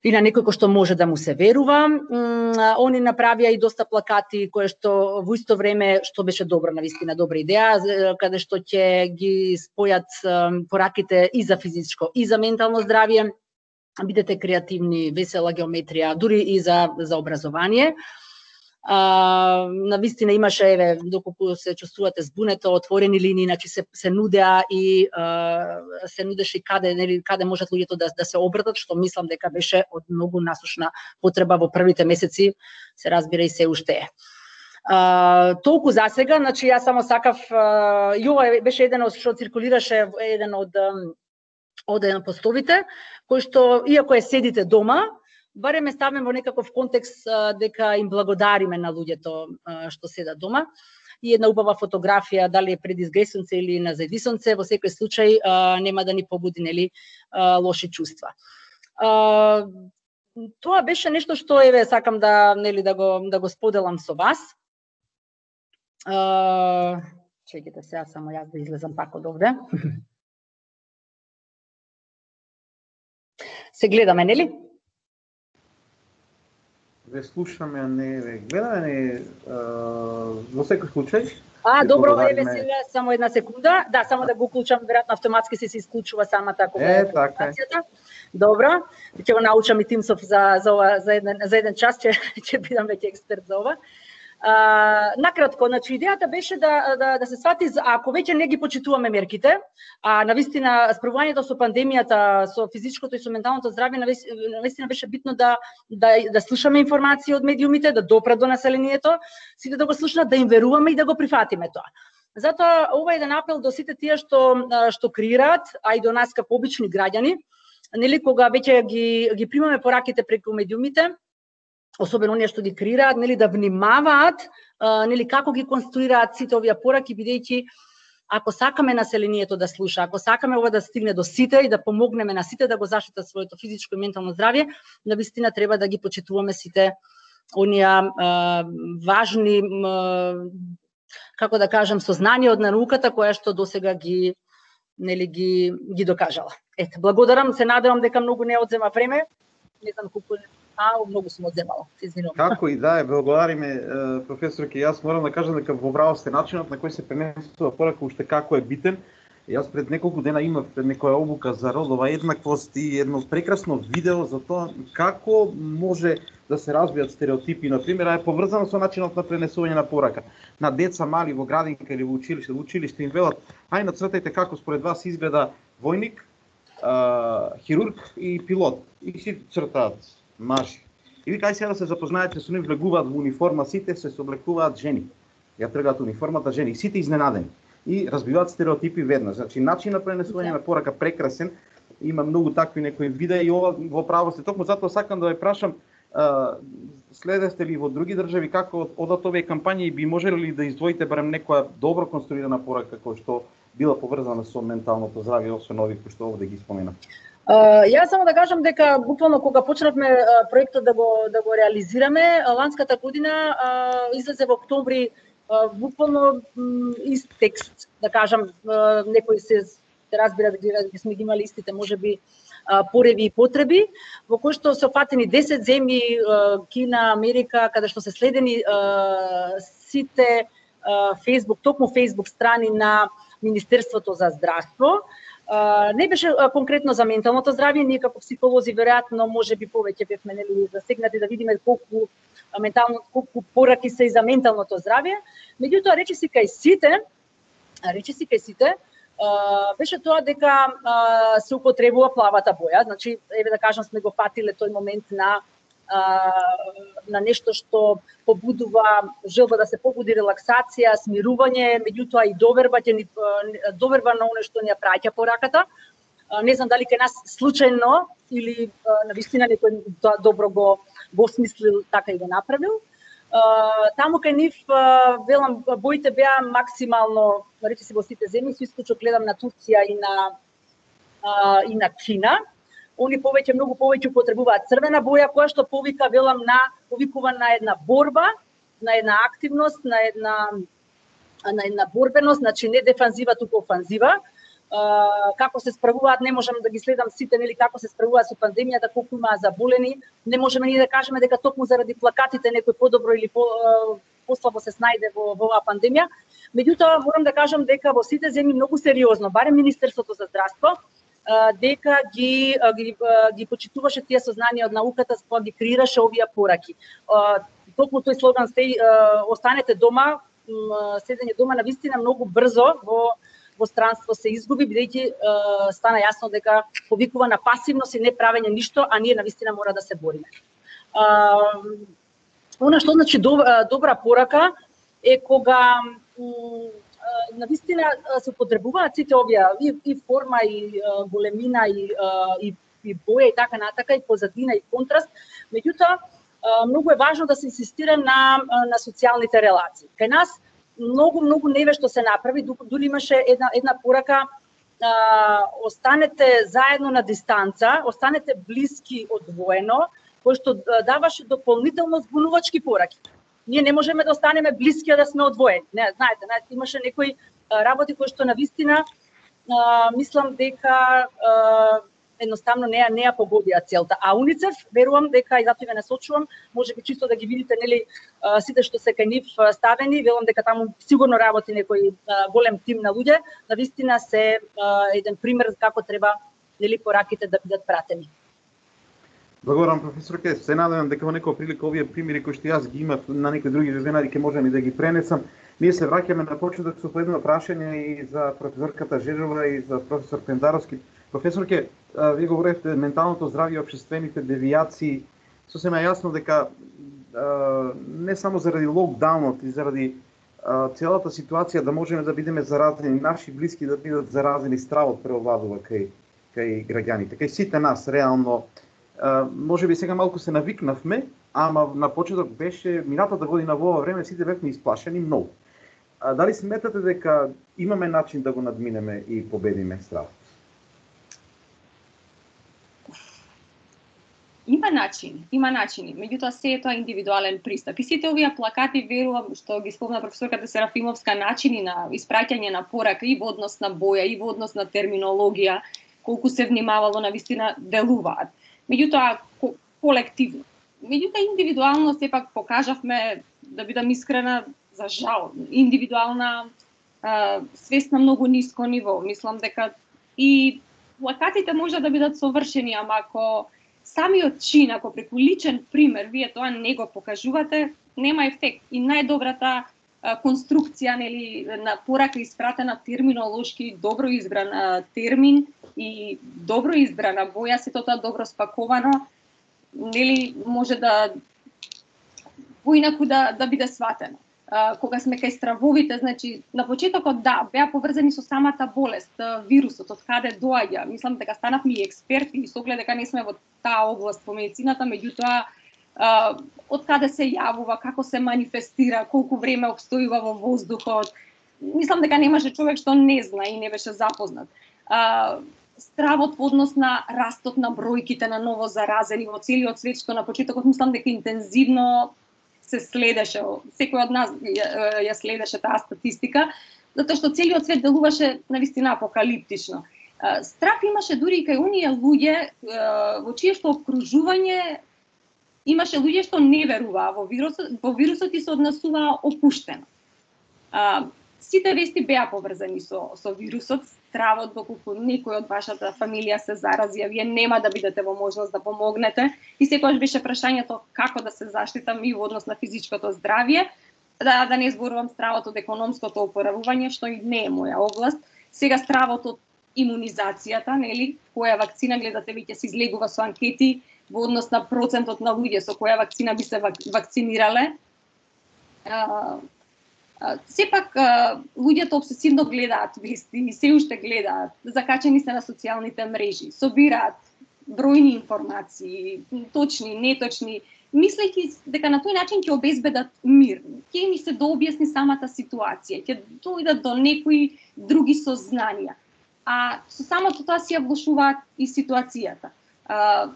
и на некој кој што може да му се верува. Они направија и доста плакати кои што во исто време, што беше добро, навистина добра идеја, каде што ќе ги спојат пораките и за физичко и за ментално здравје. Бидете креативни, весела геометрија, дури и за за образование. А, навистина имаше, еве, доколку се чувствувате збунето, отворени линии, значи се се нудеа и а, се нудеше каде, нели, каде можат луѓето да да се обратат, што мислам дека беше од многу насушна потреба во првите месеци, се разбира и се уште е. А, толку за сега, значи јас само сакав, а, и ова беше еден од што циркулираше, еден од од еден постовите, кој што иако е седите дома, барем е ставаме во некаков контекст дека им благодариме на луѓето што седат дома. И една убава фотографија, дали е пред изгресунце или на зајдисунце, во секој случај нема да ни побуди, нели, лоши чувства. Тоа беше нешто што еве сакам да, нели, да го да го споделам со вас. Чекайте сега само јас да излезам пак од овде. Се гледаме, нели? Ве слушаме, а не ве гледаме, не, а, во секој случај. А, добро, еве сега само една секунда. Да, само да го уклучам, веројатно автоматски се се исклучува самата кога е презентацијата. Добро, ќе го научам и Тимсов за за ова за еден за еден час, ќе ќе бидам веќе експерт за ова. А, накратко, значи идејата беше да да да се свати, ако веќе не ги почитуваме мерките, а навистина справувањето со пандемијата, со физичкото и со менталното здравје, навистина беше битно да да да слушаме информации од медиумите, да допрат до населението, сите да го слушнат, да им веруваме и да го прифатиме тоа. Затоа ова е еден апел до сите тие што што креираат, а и до нас како обични граѓани, нели, кога веќе ги ги примаме пораките преку медиумите, особено оние што ги креираат, нели, да внимаваат, нели, како ги конструираат сите овие пораки, бидејќи ако сакаме населението да слуша, ако сакаме ова да стигне до сите и да помогнеме на сите да го заштитат своето физичко и ментално здравје, навистина треба да ги почитуваме сите оние важни, како да кажам, сознанија од науката која што досега ги нели ги ги докажала. Ете, благодарам, се надевам дека многу не одзема време. Не знам колку А, многу сум одземала, се извинувам. Како и да е, благодариме, професорке, јас морам да кажам дека во право сте начинот на кој се пренесува порака уште како е битен. Јас пред неколку дена имав пред некоја обука за родова еднаквост и едно прекрасно видео за тоа како може да се разбијат стереотипи, например, а е поврзано со начинот на пренесување на порака. На деца мали во градинка или во училиште, во училиште им велат: ај нацртајте како според вас изгледа војник, а, хирург и пилот. И сите цртаат мажи. И вика, ај сега да се запознаете со нив, влегуваат во униформа, сите се соблекуваат жени. Ја тргаат униформата жени, и сите изненадени. И разбиваат стереотипи веднаш. Значи, начин на пренесување на порака прекрасен, има многу такви некои видеа и ова во право сте. Токму затоа сакам да ве прашам, следевте ли во други држави како одат овие кампањи и би можеле ли да издвоите барем некоја добро конструирана порака која што била поврзана со менталното здравје, освен овие кои што овде ги споменав? Uh, јас само да кажам дека буквално кога почнавме uh, проектот да го да го реализираме, ланската година uh, излезе во октомври uh, буквално um, ист текст, да кажам, uh, некои се, се разбира дека сме ги имали истите можеби uh, пореви и потреби, во кои што се опфатени десет земји, uh, Кина, Америка, каде што се следени uh, сите uh, Facebook, токму Facebook страни на Министерството за здравство. Не беше конкретно за менталното здравје, ние како психолози веројатно можеби повеќе бевме нели засегнати да видиме колку ментално колку пораки се и за менталното здравје. Меѓутоа речиси кај сите, речиси кај сите беше тоа дека се употребува плавата боја, значи еве да кажам сме го фатиле тој момент на на нешто што побудува желба да се побуди релаксација, смирување, меѓутоа и доверба, доверба на оно што ни ја праќа пораката. Не знам дали кај нас случајно или навистина некој тоа добро го го смислил така и го направил. Таму кај нив велам боите беа максимално, речиси во сите земји, со исклучок гледам на Турција и на и на Кина. Они повеќе многу повеќе употребуваат црвена боја која што повика велам на повикува на една борба, на една активност, на една на една борбеност, значи не дефанзива туку офанзива. Како се справуваат, не можам да ги следам сите, нели како се справуваат со пандемијата, колку имаа заболени. Не можеме ни да кажеме дека токму заради плакатите некој подобро или по послабо се снајде во, во оваа пандемија. Меѓутоа морам да кажам дека во сите земји многу сериозно, барем Министерството за здравство, дека ги, ги, ги почитуваше тие сознанија од науката, кога ги креираше овие пораки. Токму тој слоган стеј, останете дома, седење дома навистина многу брзо во во странство се изгуби, бидејќи стана јасно дека повикува на пасивност и не правење ништо, а ние навистина мора да се бориме. Она што значи добра порака е кога навистина се употребуваат сите овие и, и форма и големина и, и и боја и така натака и позадина и контраст. Меѓутоа многу е важно да се инсистира на на социјалните релации. Кај нас многу многу невешто се направи, дури имаше една една порака а, останете заедно на дистанца, останете блиски одвоено, кој што даваше дополнително збунувачки пораки. Ние не можеме да останеме блиски, а да сме одвоени. Не, знаете, знаете, имаше некои работи кои што навистина мислам дека а, едноставно не ја не ја погодија целта. А УНИЦЕФ верувам дека и затоа ве насочувам, можеби чисто да ги видите нели сите што се кај нив ставени, велам дека таму сигурно работи некој голем тим на луѓе, навистина се еден пример како треба нели пораките да бидат пратени. Благодарам, професорке. Се надевам дека во некоја прилика овие примери кои што јас ги имав на некои други вебинари ќе можам и да ги пренесам. Ние се враќаме на почеток со едно прашање и за професорката Жежова и за професор Пендаровски. Професорке, вие говоревте менталното здравје и општествените девијации. Сосема јасно дека не само заради локдаунот и заради целата ситуација да можеме да бидеме заразени, наши блиски да бидат заразени, стравот преовладува кај кај граѓаните, кај сите нас реално. Може би сега малку се навикнавме, ама на почеток беше минатата година во ова време сите бевме исплашени многу. Дали сметате дека имаме начин да го надминеме и победиме стравот? Има начин, има начини, меѓутоа се е тоа индивидуален пристап. И сите овие плакати, верувам, што ги спомна професорката Серафимовска, начини на испраќање на порака и во однос на боја, и во однос на терминологија, колку се внимавало навистина делуваат. Меѓутоа колективно. Меѓутоа индивидуално сепак покажавме, да бидам искрена, за жал, индивидуална а, свест на многу ниско ниво. Мислам дека и плакатите може да бидат совршени, ама ако самиот чин, ако преку личен пример вие тоа не го покажувате, нема ефект. И најдобрата а, конструкција нели на порака испратена терминолошки добро избран а, термин и добро избрана боја, сето тоа добро спаковано, нели може да поинаку да да биде сватено. Uh, кога сме кај стравовите, значи на почетокот да, беа поврзани со самата болест, вирусот, од каде доаѓа. Мислам дека станавме и експерти и со оглед дека не сме во таа област по медицината, меѓутоа uh, од каде се јавува, како се манифестира, колку време обстојува во воздухот. Мислам дека немаше човек што не зна и не беше запознат. Uh, стравот во однос на растот на бројките на ново заразени во целиот свет, што на почетокот мислам дека интензивно се следеше, секој од нас ја, ја следеше таа статистика, затоа што целиот свет делуваше навистина апокалиптично. Страх имаше дури и кај оние луѓе во чие што обкружување имаше луѓе што не веруваа во вирусот, во вирусот и се однесуваа опуштено. сите вести беа поврзани со со вирусот, стравот доколку некој од вашата фамилија се зарази, а вие нема да бидете во можност да помогнете, и секогаш беше прашањето како да се заштитам и во однос на физичкото здравје, да да не зборувам стравот од економското опоравување, што и не е моја област. Сега стравот од имунизацијата, нели, која вакцина гледате веќе се излегува со анкети во однос на процентот на луѓе со која вакцина би се вакцинирале. А, а, сепак а, луѓето обсесивно гледаат вести и се уште гледаат, закачени се на социјалните мрежи, собираат бројни информации, точни, неточни, мислејќи дека на тој начин ќе обезбедат мир, ќе им се дообјасни самата ситуација, ќе дојдат до некои други сознанија. А со самото тоа си ја влошуваат и ситуацијата. А,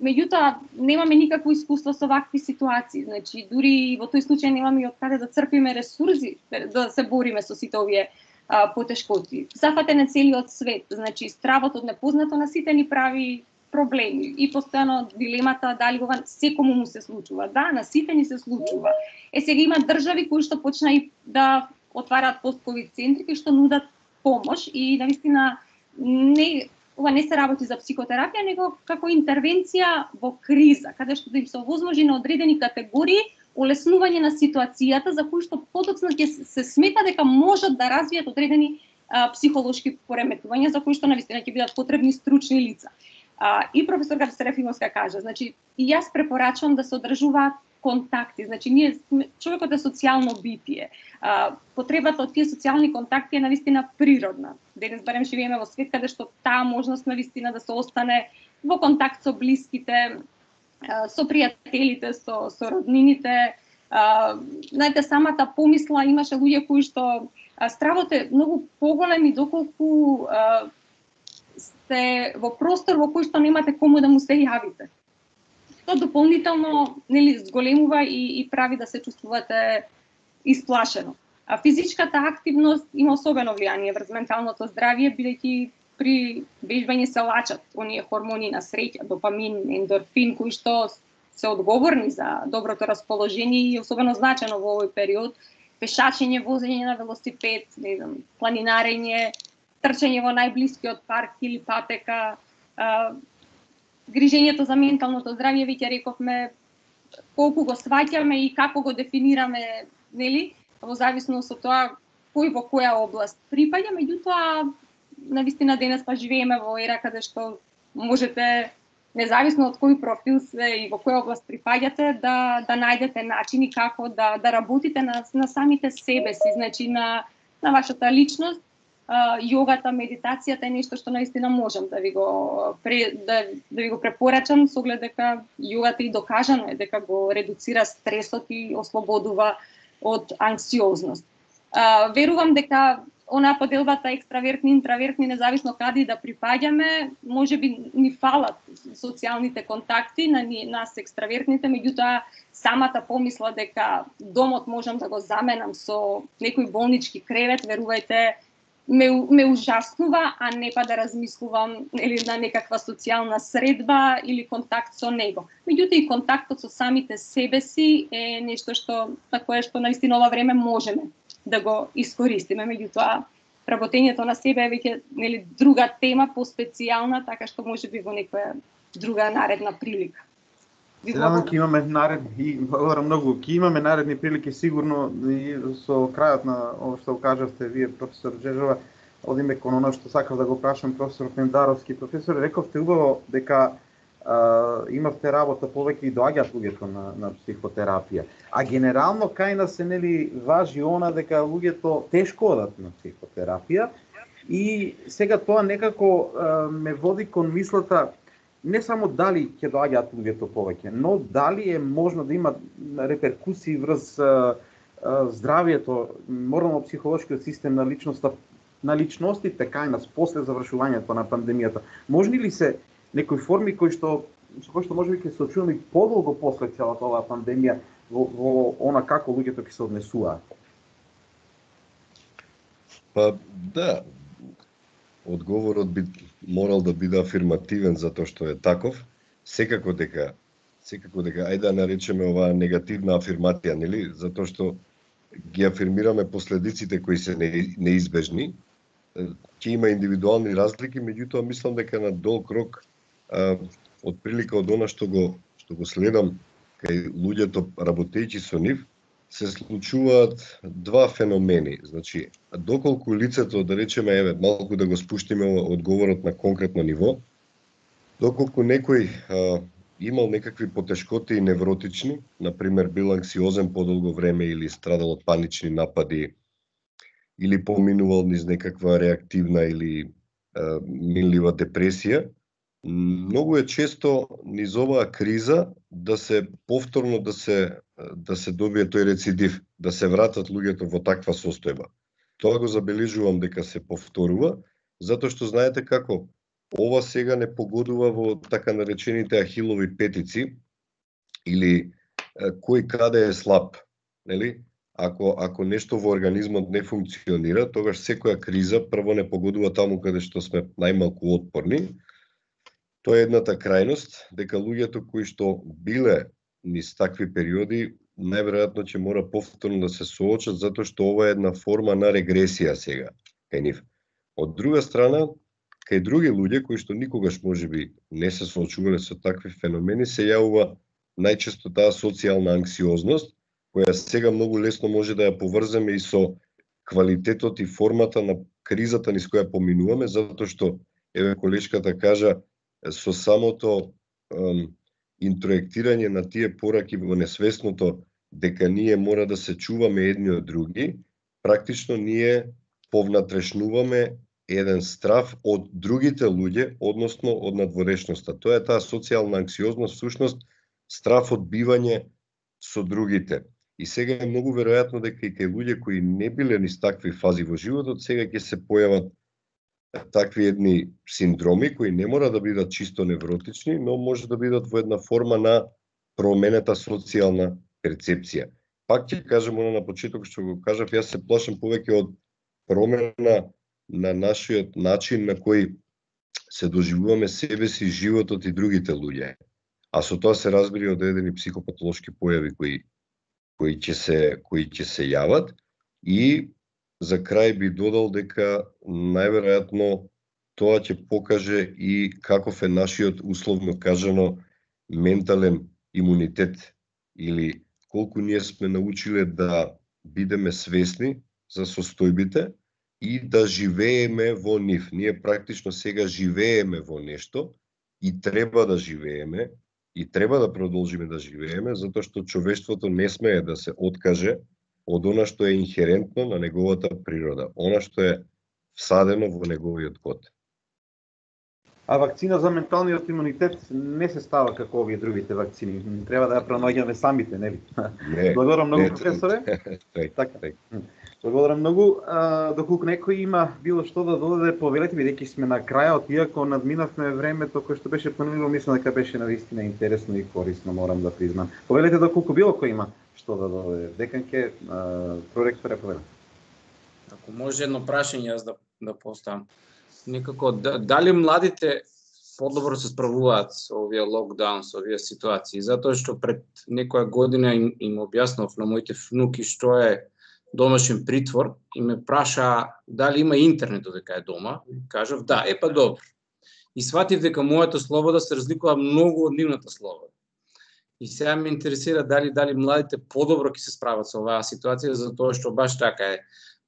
меѓутоа, немаме никакво искуство со вакви ситуации, значи дури во тој случај немаме и од каде да црпиме ресурси да се бориме со сите овие а, потешкоти. Зафатен е целиот свет, значи стравот од непознато на сите ни прави проблеми и постојано дилемата дали ова секому му се случува. Да, на сите ни се случува. Е, сега има држави кои што почна и да отвараат пост-ковид центри кои што нудат помош и навистина не ова не се работи за психотерапија, него како интервенција во криза, каде што да им се овозможи на одредени категории олеснување на ситуацијата за кои што подоцна ќе се смета дека можат да развијат одредени а, психолошки пореметувања за кои што навистина ќе бидат потребни стручни лица. А, и професорка Серафимовска кажа, значи и јас препорачувам да се одржуваат контакти, значи ние човекот е социјално битие. А, потребата од тие социјални контакти е навистина природна. Денес барем живееме во свет каде што таа можност навистина да се остане во контакт со блиските, а, со пријателите, со со роднините. А, знаете, самата помисла имаше луѓе кои што а, стравот е многу поголем и доколку а, сте во простор во кој што немате кому да му се јавите. Тоа дополнително нели зголемува и, и прави да се чувствувате исплашено. А физичката активност има особено влијание врз менталното здравје, бидејќи при вежбање се лачат оние хормони на среќа, допамин, ендорфин, кои што се одговорни за доброто расположение и особено значено во овој период. Пешачење, возење на велосипед, не знам, планинарење, трчање во најблискиот парк или патека, а, грижењето за менталното здравје, веќе рековме колку го сваќаме и како го дефинираме, нели, во зависност од тоа кој во која област припаѓа, меѓутоа навистина денес па живееме во ера каде што можете независно од кој профил се и во која област припаѓате да да најдете начини како да да работите на на самите себе си, значи на на вашата личност. Uh, јогата, медитацијата е нешто што наистина можам да ви го пре, да, да ви го препорачам со оглед дека јогата и докажано е дека го редуцира стресот и ослободува од анксиозност. Uh, верувам дека онаа поделбата екстравертни, интравертни, независно каде да припаѓаме, можеби ни фалат социјалните контакти на ни, нас екстравертните, меѓутоа самата помисла дека домот можам да го заменам со некој болнички кревет, верувајте, ме, ме ужаснува, а не па да размислувам или на некаква социјална средба или контакт со него. Меѓутоа и контактот со самите себе си е нешто што на кое што наистина ова време можеме да го искористиме. Меѓутоа работењето на себе е веќе нели друга тема, поспецијална, така што можеби во некоја друга наредна прилика. Сега ќе имаме наредни, и благодарам многу, ќе имаме наредни прилики сигурно и со крајот на ова што кажавте вие, професор Джежова, одиме кон оно што сакав да го прашам професор Пендаровски. Професор, рековте убаво дека а, имавте работа повеќе и доаѓаат луѓето на, на психотерапија. А генерално кај нас се нели важи она дека луѓето тешко одат на психотерапија и сега тоа некако а, ме води кон мислата не само дали ќе доаѓаат луѓето повеќе, но дали е можно да има реперкусии врз а, а, здравјето, морално-психолошкиот систем на личноста, на личностите кај нас после завршувањето на пандемијата. Можни ли се некои форми кои што со кои што можеби ќе се очуваме подолго после целата оваа пандемија во, во она како луѓето ќе се однесуваат? Па да, одговорот би морал да биде афирмативен затоа што е таков. Секако дека секако дека ајде да наречеме оваа негативна афирмација, нели? Затоа што ги афирмираме последиците кои се неизбежни. Ќе има индивидуални разлики, меѓутоа мислам дека на долг рок од прилика од она што го што го следам кај луѓето работејќи со нив, се случуваат два феномени. Значи, доколку лицето, да речеме, еве, малку да го спуштиме одговорот на конкретно ниво, доколку некој а, имал некакви потешкоти и невротични, например бил анксиозен подолго време или страдал од панични напади, или поминувал низ некаква реактивна или а, минлива депресија, многу е често низ оваа криза да се повторно да се да се добие тој рецидив, да се вратат луѓето во таква состојба. Тоа го забележувам дека се повторува, затоа што знаете како ова сега не погодува во така наречените ахилови петици или кој каде е слаб, нели? Ако ако нешто во организмот не функционира, тогаш секоја криза прво не погодува таму каде што сме најмалку отпорни. Тоа е едната крајност, дека луѓето кои што биле низ такви периоди, најверојатно ќе мора повторно да се соочат, затоа што ова е една форма на регресија сега кај нив. Од друга страна, кај други луѓе кои што никогаш можеби не се соочувале со такви феномени, се јавува најчесто таа социјална анксиозност, која сега многу лесно може да ја поврземе и со квалитетот и формата на кризата низ која поминуваме, затоа што, еве колешката кажа, со самото ем, интроектирање на тие пораки во несвесното дека ние мора да се чуваме едни од други, практично ние повнатрешнуваме еден страв од другите луѓе, односно од надворешноста. Тоа е таа социјална анксиозност, всушност страв од бивање со другите. И сега е многу веројатно дека и кај луѓе кои не биле низ такви фази во животот, сега ќе се појават такви едни синдроми кои не мора да бидат чисто невротични, но може да бидат во една форма на променета социјална перцепција. Пак ќе кажам оно на почеток што го кажав, јас се плашам повеќе од промена на нашиот начин на кој се доживуваме себе си, животот и другите луѓе. А со тоа се разбира од одредени психопатолошки појави кои кои ќе се кои ќе се јават. И за крај би додал дека најверојатно тоа ќе покаже и каков е нашиот, условно кажано, ментален имунитет или колку ние сме научиле да бидеме свесни за состојбите и да живееме во нив. Ние практично сега живееме во нешто и треба да живееме и треба да продолжиме да живееме, затоа што човештвото не смее да се откаже од она што е инхерентно на неговата природа, она што е всадено во неговиот код. А вакцина за менталниот имунитет не се става како овие другите вакцини. Треба да ја пронаоѓаме самите, нели? Не. Благодарам многу, не, професоре. Така. Благодарам многу. А, доколку некој има било што да додаде, повелете, бидејќи сме на крајот, иако надминавме времето кое што беше планирано, мислам дека беше навистина интересно и корисно, морам да признам. Повелете доколку било кој има што да додаде. Деканке, проректоре, повелете. Ако може едно прашање јас да да поставам. Некако дали младите подобро се справуваат со овие локдаун, со овие ситуации, затоа што пред некоја година им, им објаснав на моите внуки што е домашен притвор и ме праша дали има интернет додека е дома, и кажав да, е па добро. И сватив дека мојата слобода се разликува многу од нивната слобода. И сега ме интересира дали дали младите подобро ќе се справат со оваа ситуација, затоа што баш така е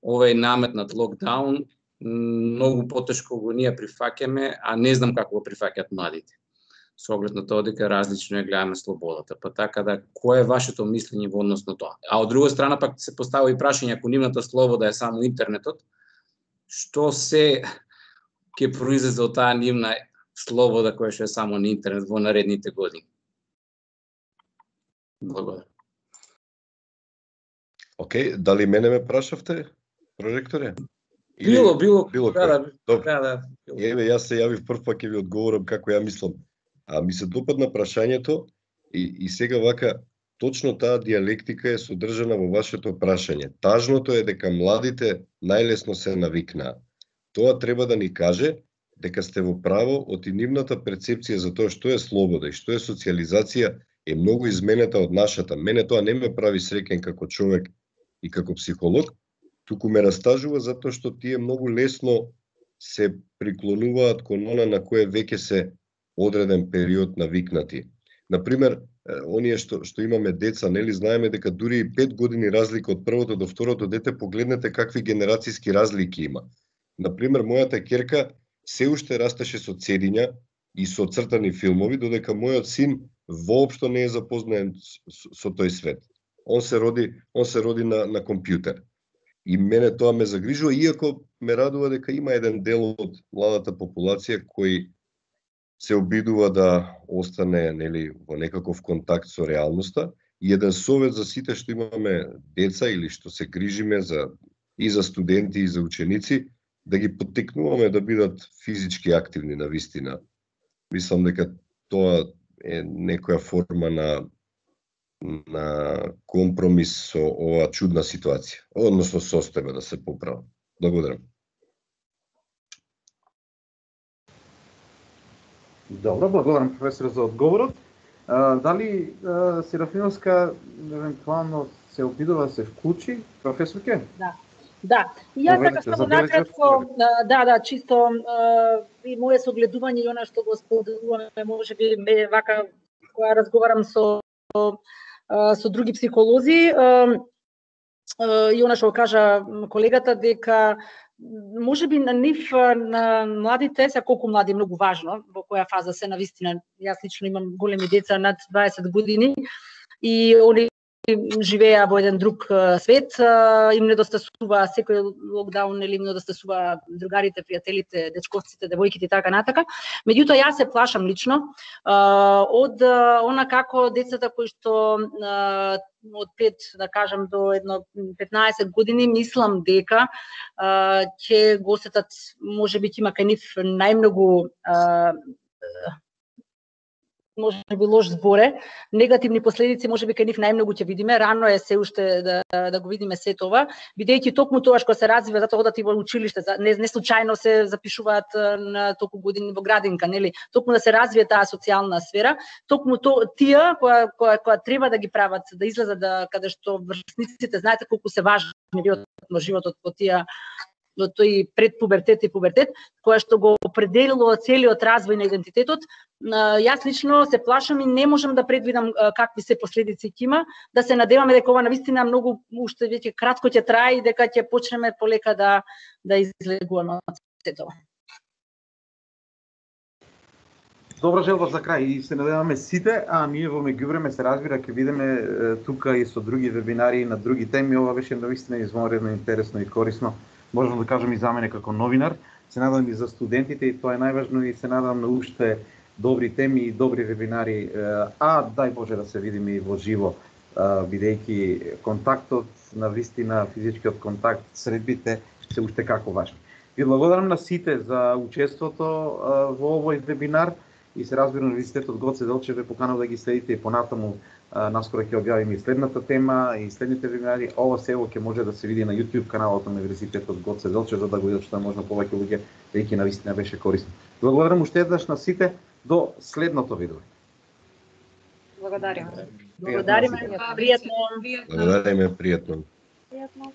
овој наметнат локдаун многу потешко го ние прифаќаме, а не знам како го прифаќаат младите. Со оглед на тоа дека различно ја гледаме слободата. Па така да, кое е вашето мислење во однос на тоа? А од друга страна пак се поставува и прашање, ако нивната слобода е само интернетот, што се ќе произлезе од таа нивна слобода која што е само на интернет во наредните години? Благодарам. Океј, дали мене ме прашавте, проректоре? Или... Било, било, било да, да, Добро. да, да. Еве, јас се јавив прв пак ќе ви одговорам како ја мислам. А ми се допадна прашањето и, и сега вака, точно таа диалектика е содржана во вашето прашање. Тажното е дека младите најлесно се навикнаа. Тоа треба да ни каже дека сте во право од и нивната перцепција за тоа што е слобода и што е социјализација е многу изменета од нашата. Мене тоа не ме прави среќен како човек и како психолог, туку ме растажува затоа што тие многу лесно се приклонуваат кон она на кое веќе се одреден период навикнати. Например, оние што што имаме деца, нели знаеме дека дури и пет години разлика од првото до второто дете, погледнете какви генерацијски разлики има. Например, мојата ќерка се уште растеше со цедиња и со цртани филмови, додека мојот син воопшто не е запознаен со, со тој свет. Он се роди, он се роди на на компјутер. И мене тоа ме загрижува, иако ме радува дека има еден дел од младата популација кој се обидува да остане, нели, во некаков контакт со реалноста. И еден совет за сите што имаме деца или што се грижиме за и за студенти и за ученици, да ги поттикнуваме да бидат физички активни на вистина. Мислам дека тоа е некоја форма на на компромис со оваа чудна ситуација, односно состојба да се поправи. Благодарам. Добро, благодарам професор за одговорот. А, дали а, Серафиновска евентуално се обидува да се вклучи, професорке? Да. Да, и јас така само накратко, да, да, чисто и моје согледување и она што го споделуваме, можеби вака кога разговарам со со други психолози, и она што кажа колегата дека можеби на нив, на младите, се колку млади е многу важно, во која фаза се навистина. Јас лично имам големи деца над дваесет години и они живеа во еден друг свет, им недостасува секој локдаун, или им недостасува другарите, пријателите, дечковците, девојките и така натака. Меѓутоа јас се плашам лично од она како децата кои што од пет, да кажам, до едно петнаесет години, мислам дека ќе го осетат, можеби ќе има кај нив најмногу можеби лош зборе, негативни последици можеби кај нив најмногу ќе видиме, рано е се уште да, да го видиме се тоа, бидејќи токму тоа што се развива, затоа одат и во училиште, не, не случајно се запишуваат на толку години во градинка, нели? Токму да се развие таа социјална сфера, токму то, тие која, која, која треба да ги прават, да излезат да, каде што врсниците, знаете колку се важни во животот во тие до тој предпубертет и пубертет, која што го определило целиот развој на идентитетот. Јас лично се плашам и не можам да предвидам какви се последици ќе има, да се надеваме дека ова навистина многу уште веќе кратко ќе трае и дека ќе почнеме полека да да излегуваме од сето. Добра желба за крај и се надеваме сите, а ние во меѓувреме се разбира ќе видиме тука и со други вебинари на други теми. Ова беше навистина извонредно интересно и корисно. Можам да кажам и за мене како новинар, се надам и за студентите, и тоа е најважно, и се надам на уште добри теми и добри вебинари, а дај Боже да се видиме и во живо, бидејќи контактот, на вистина физичкиот контакт, средбите се уште како важни. Ви благодарам на сите за учеството во овој вебинар и се разбира Универзитетот Гоце Делчев ве поканува да ги следите и понатаму. Наскоро ќе објавиме и следната тема и следните вебинари. Ова сево ќе може да се види на YouTube каналот на Универзитетот Гоце Делчев, за да го видат што е можно повеќе луѓе, веќе навистина беше корисно. Благодарам уште еднаш на сите, до следното видео. Благодариме. Благодариме, пријатно. Благодариме, пријатно. Пријатно.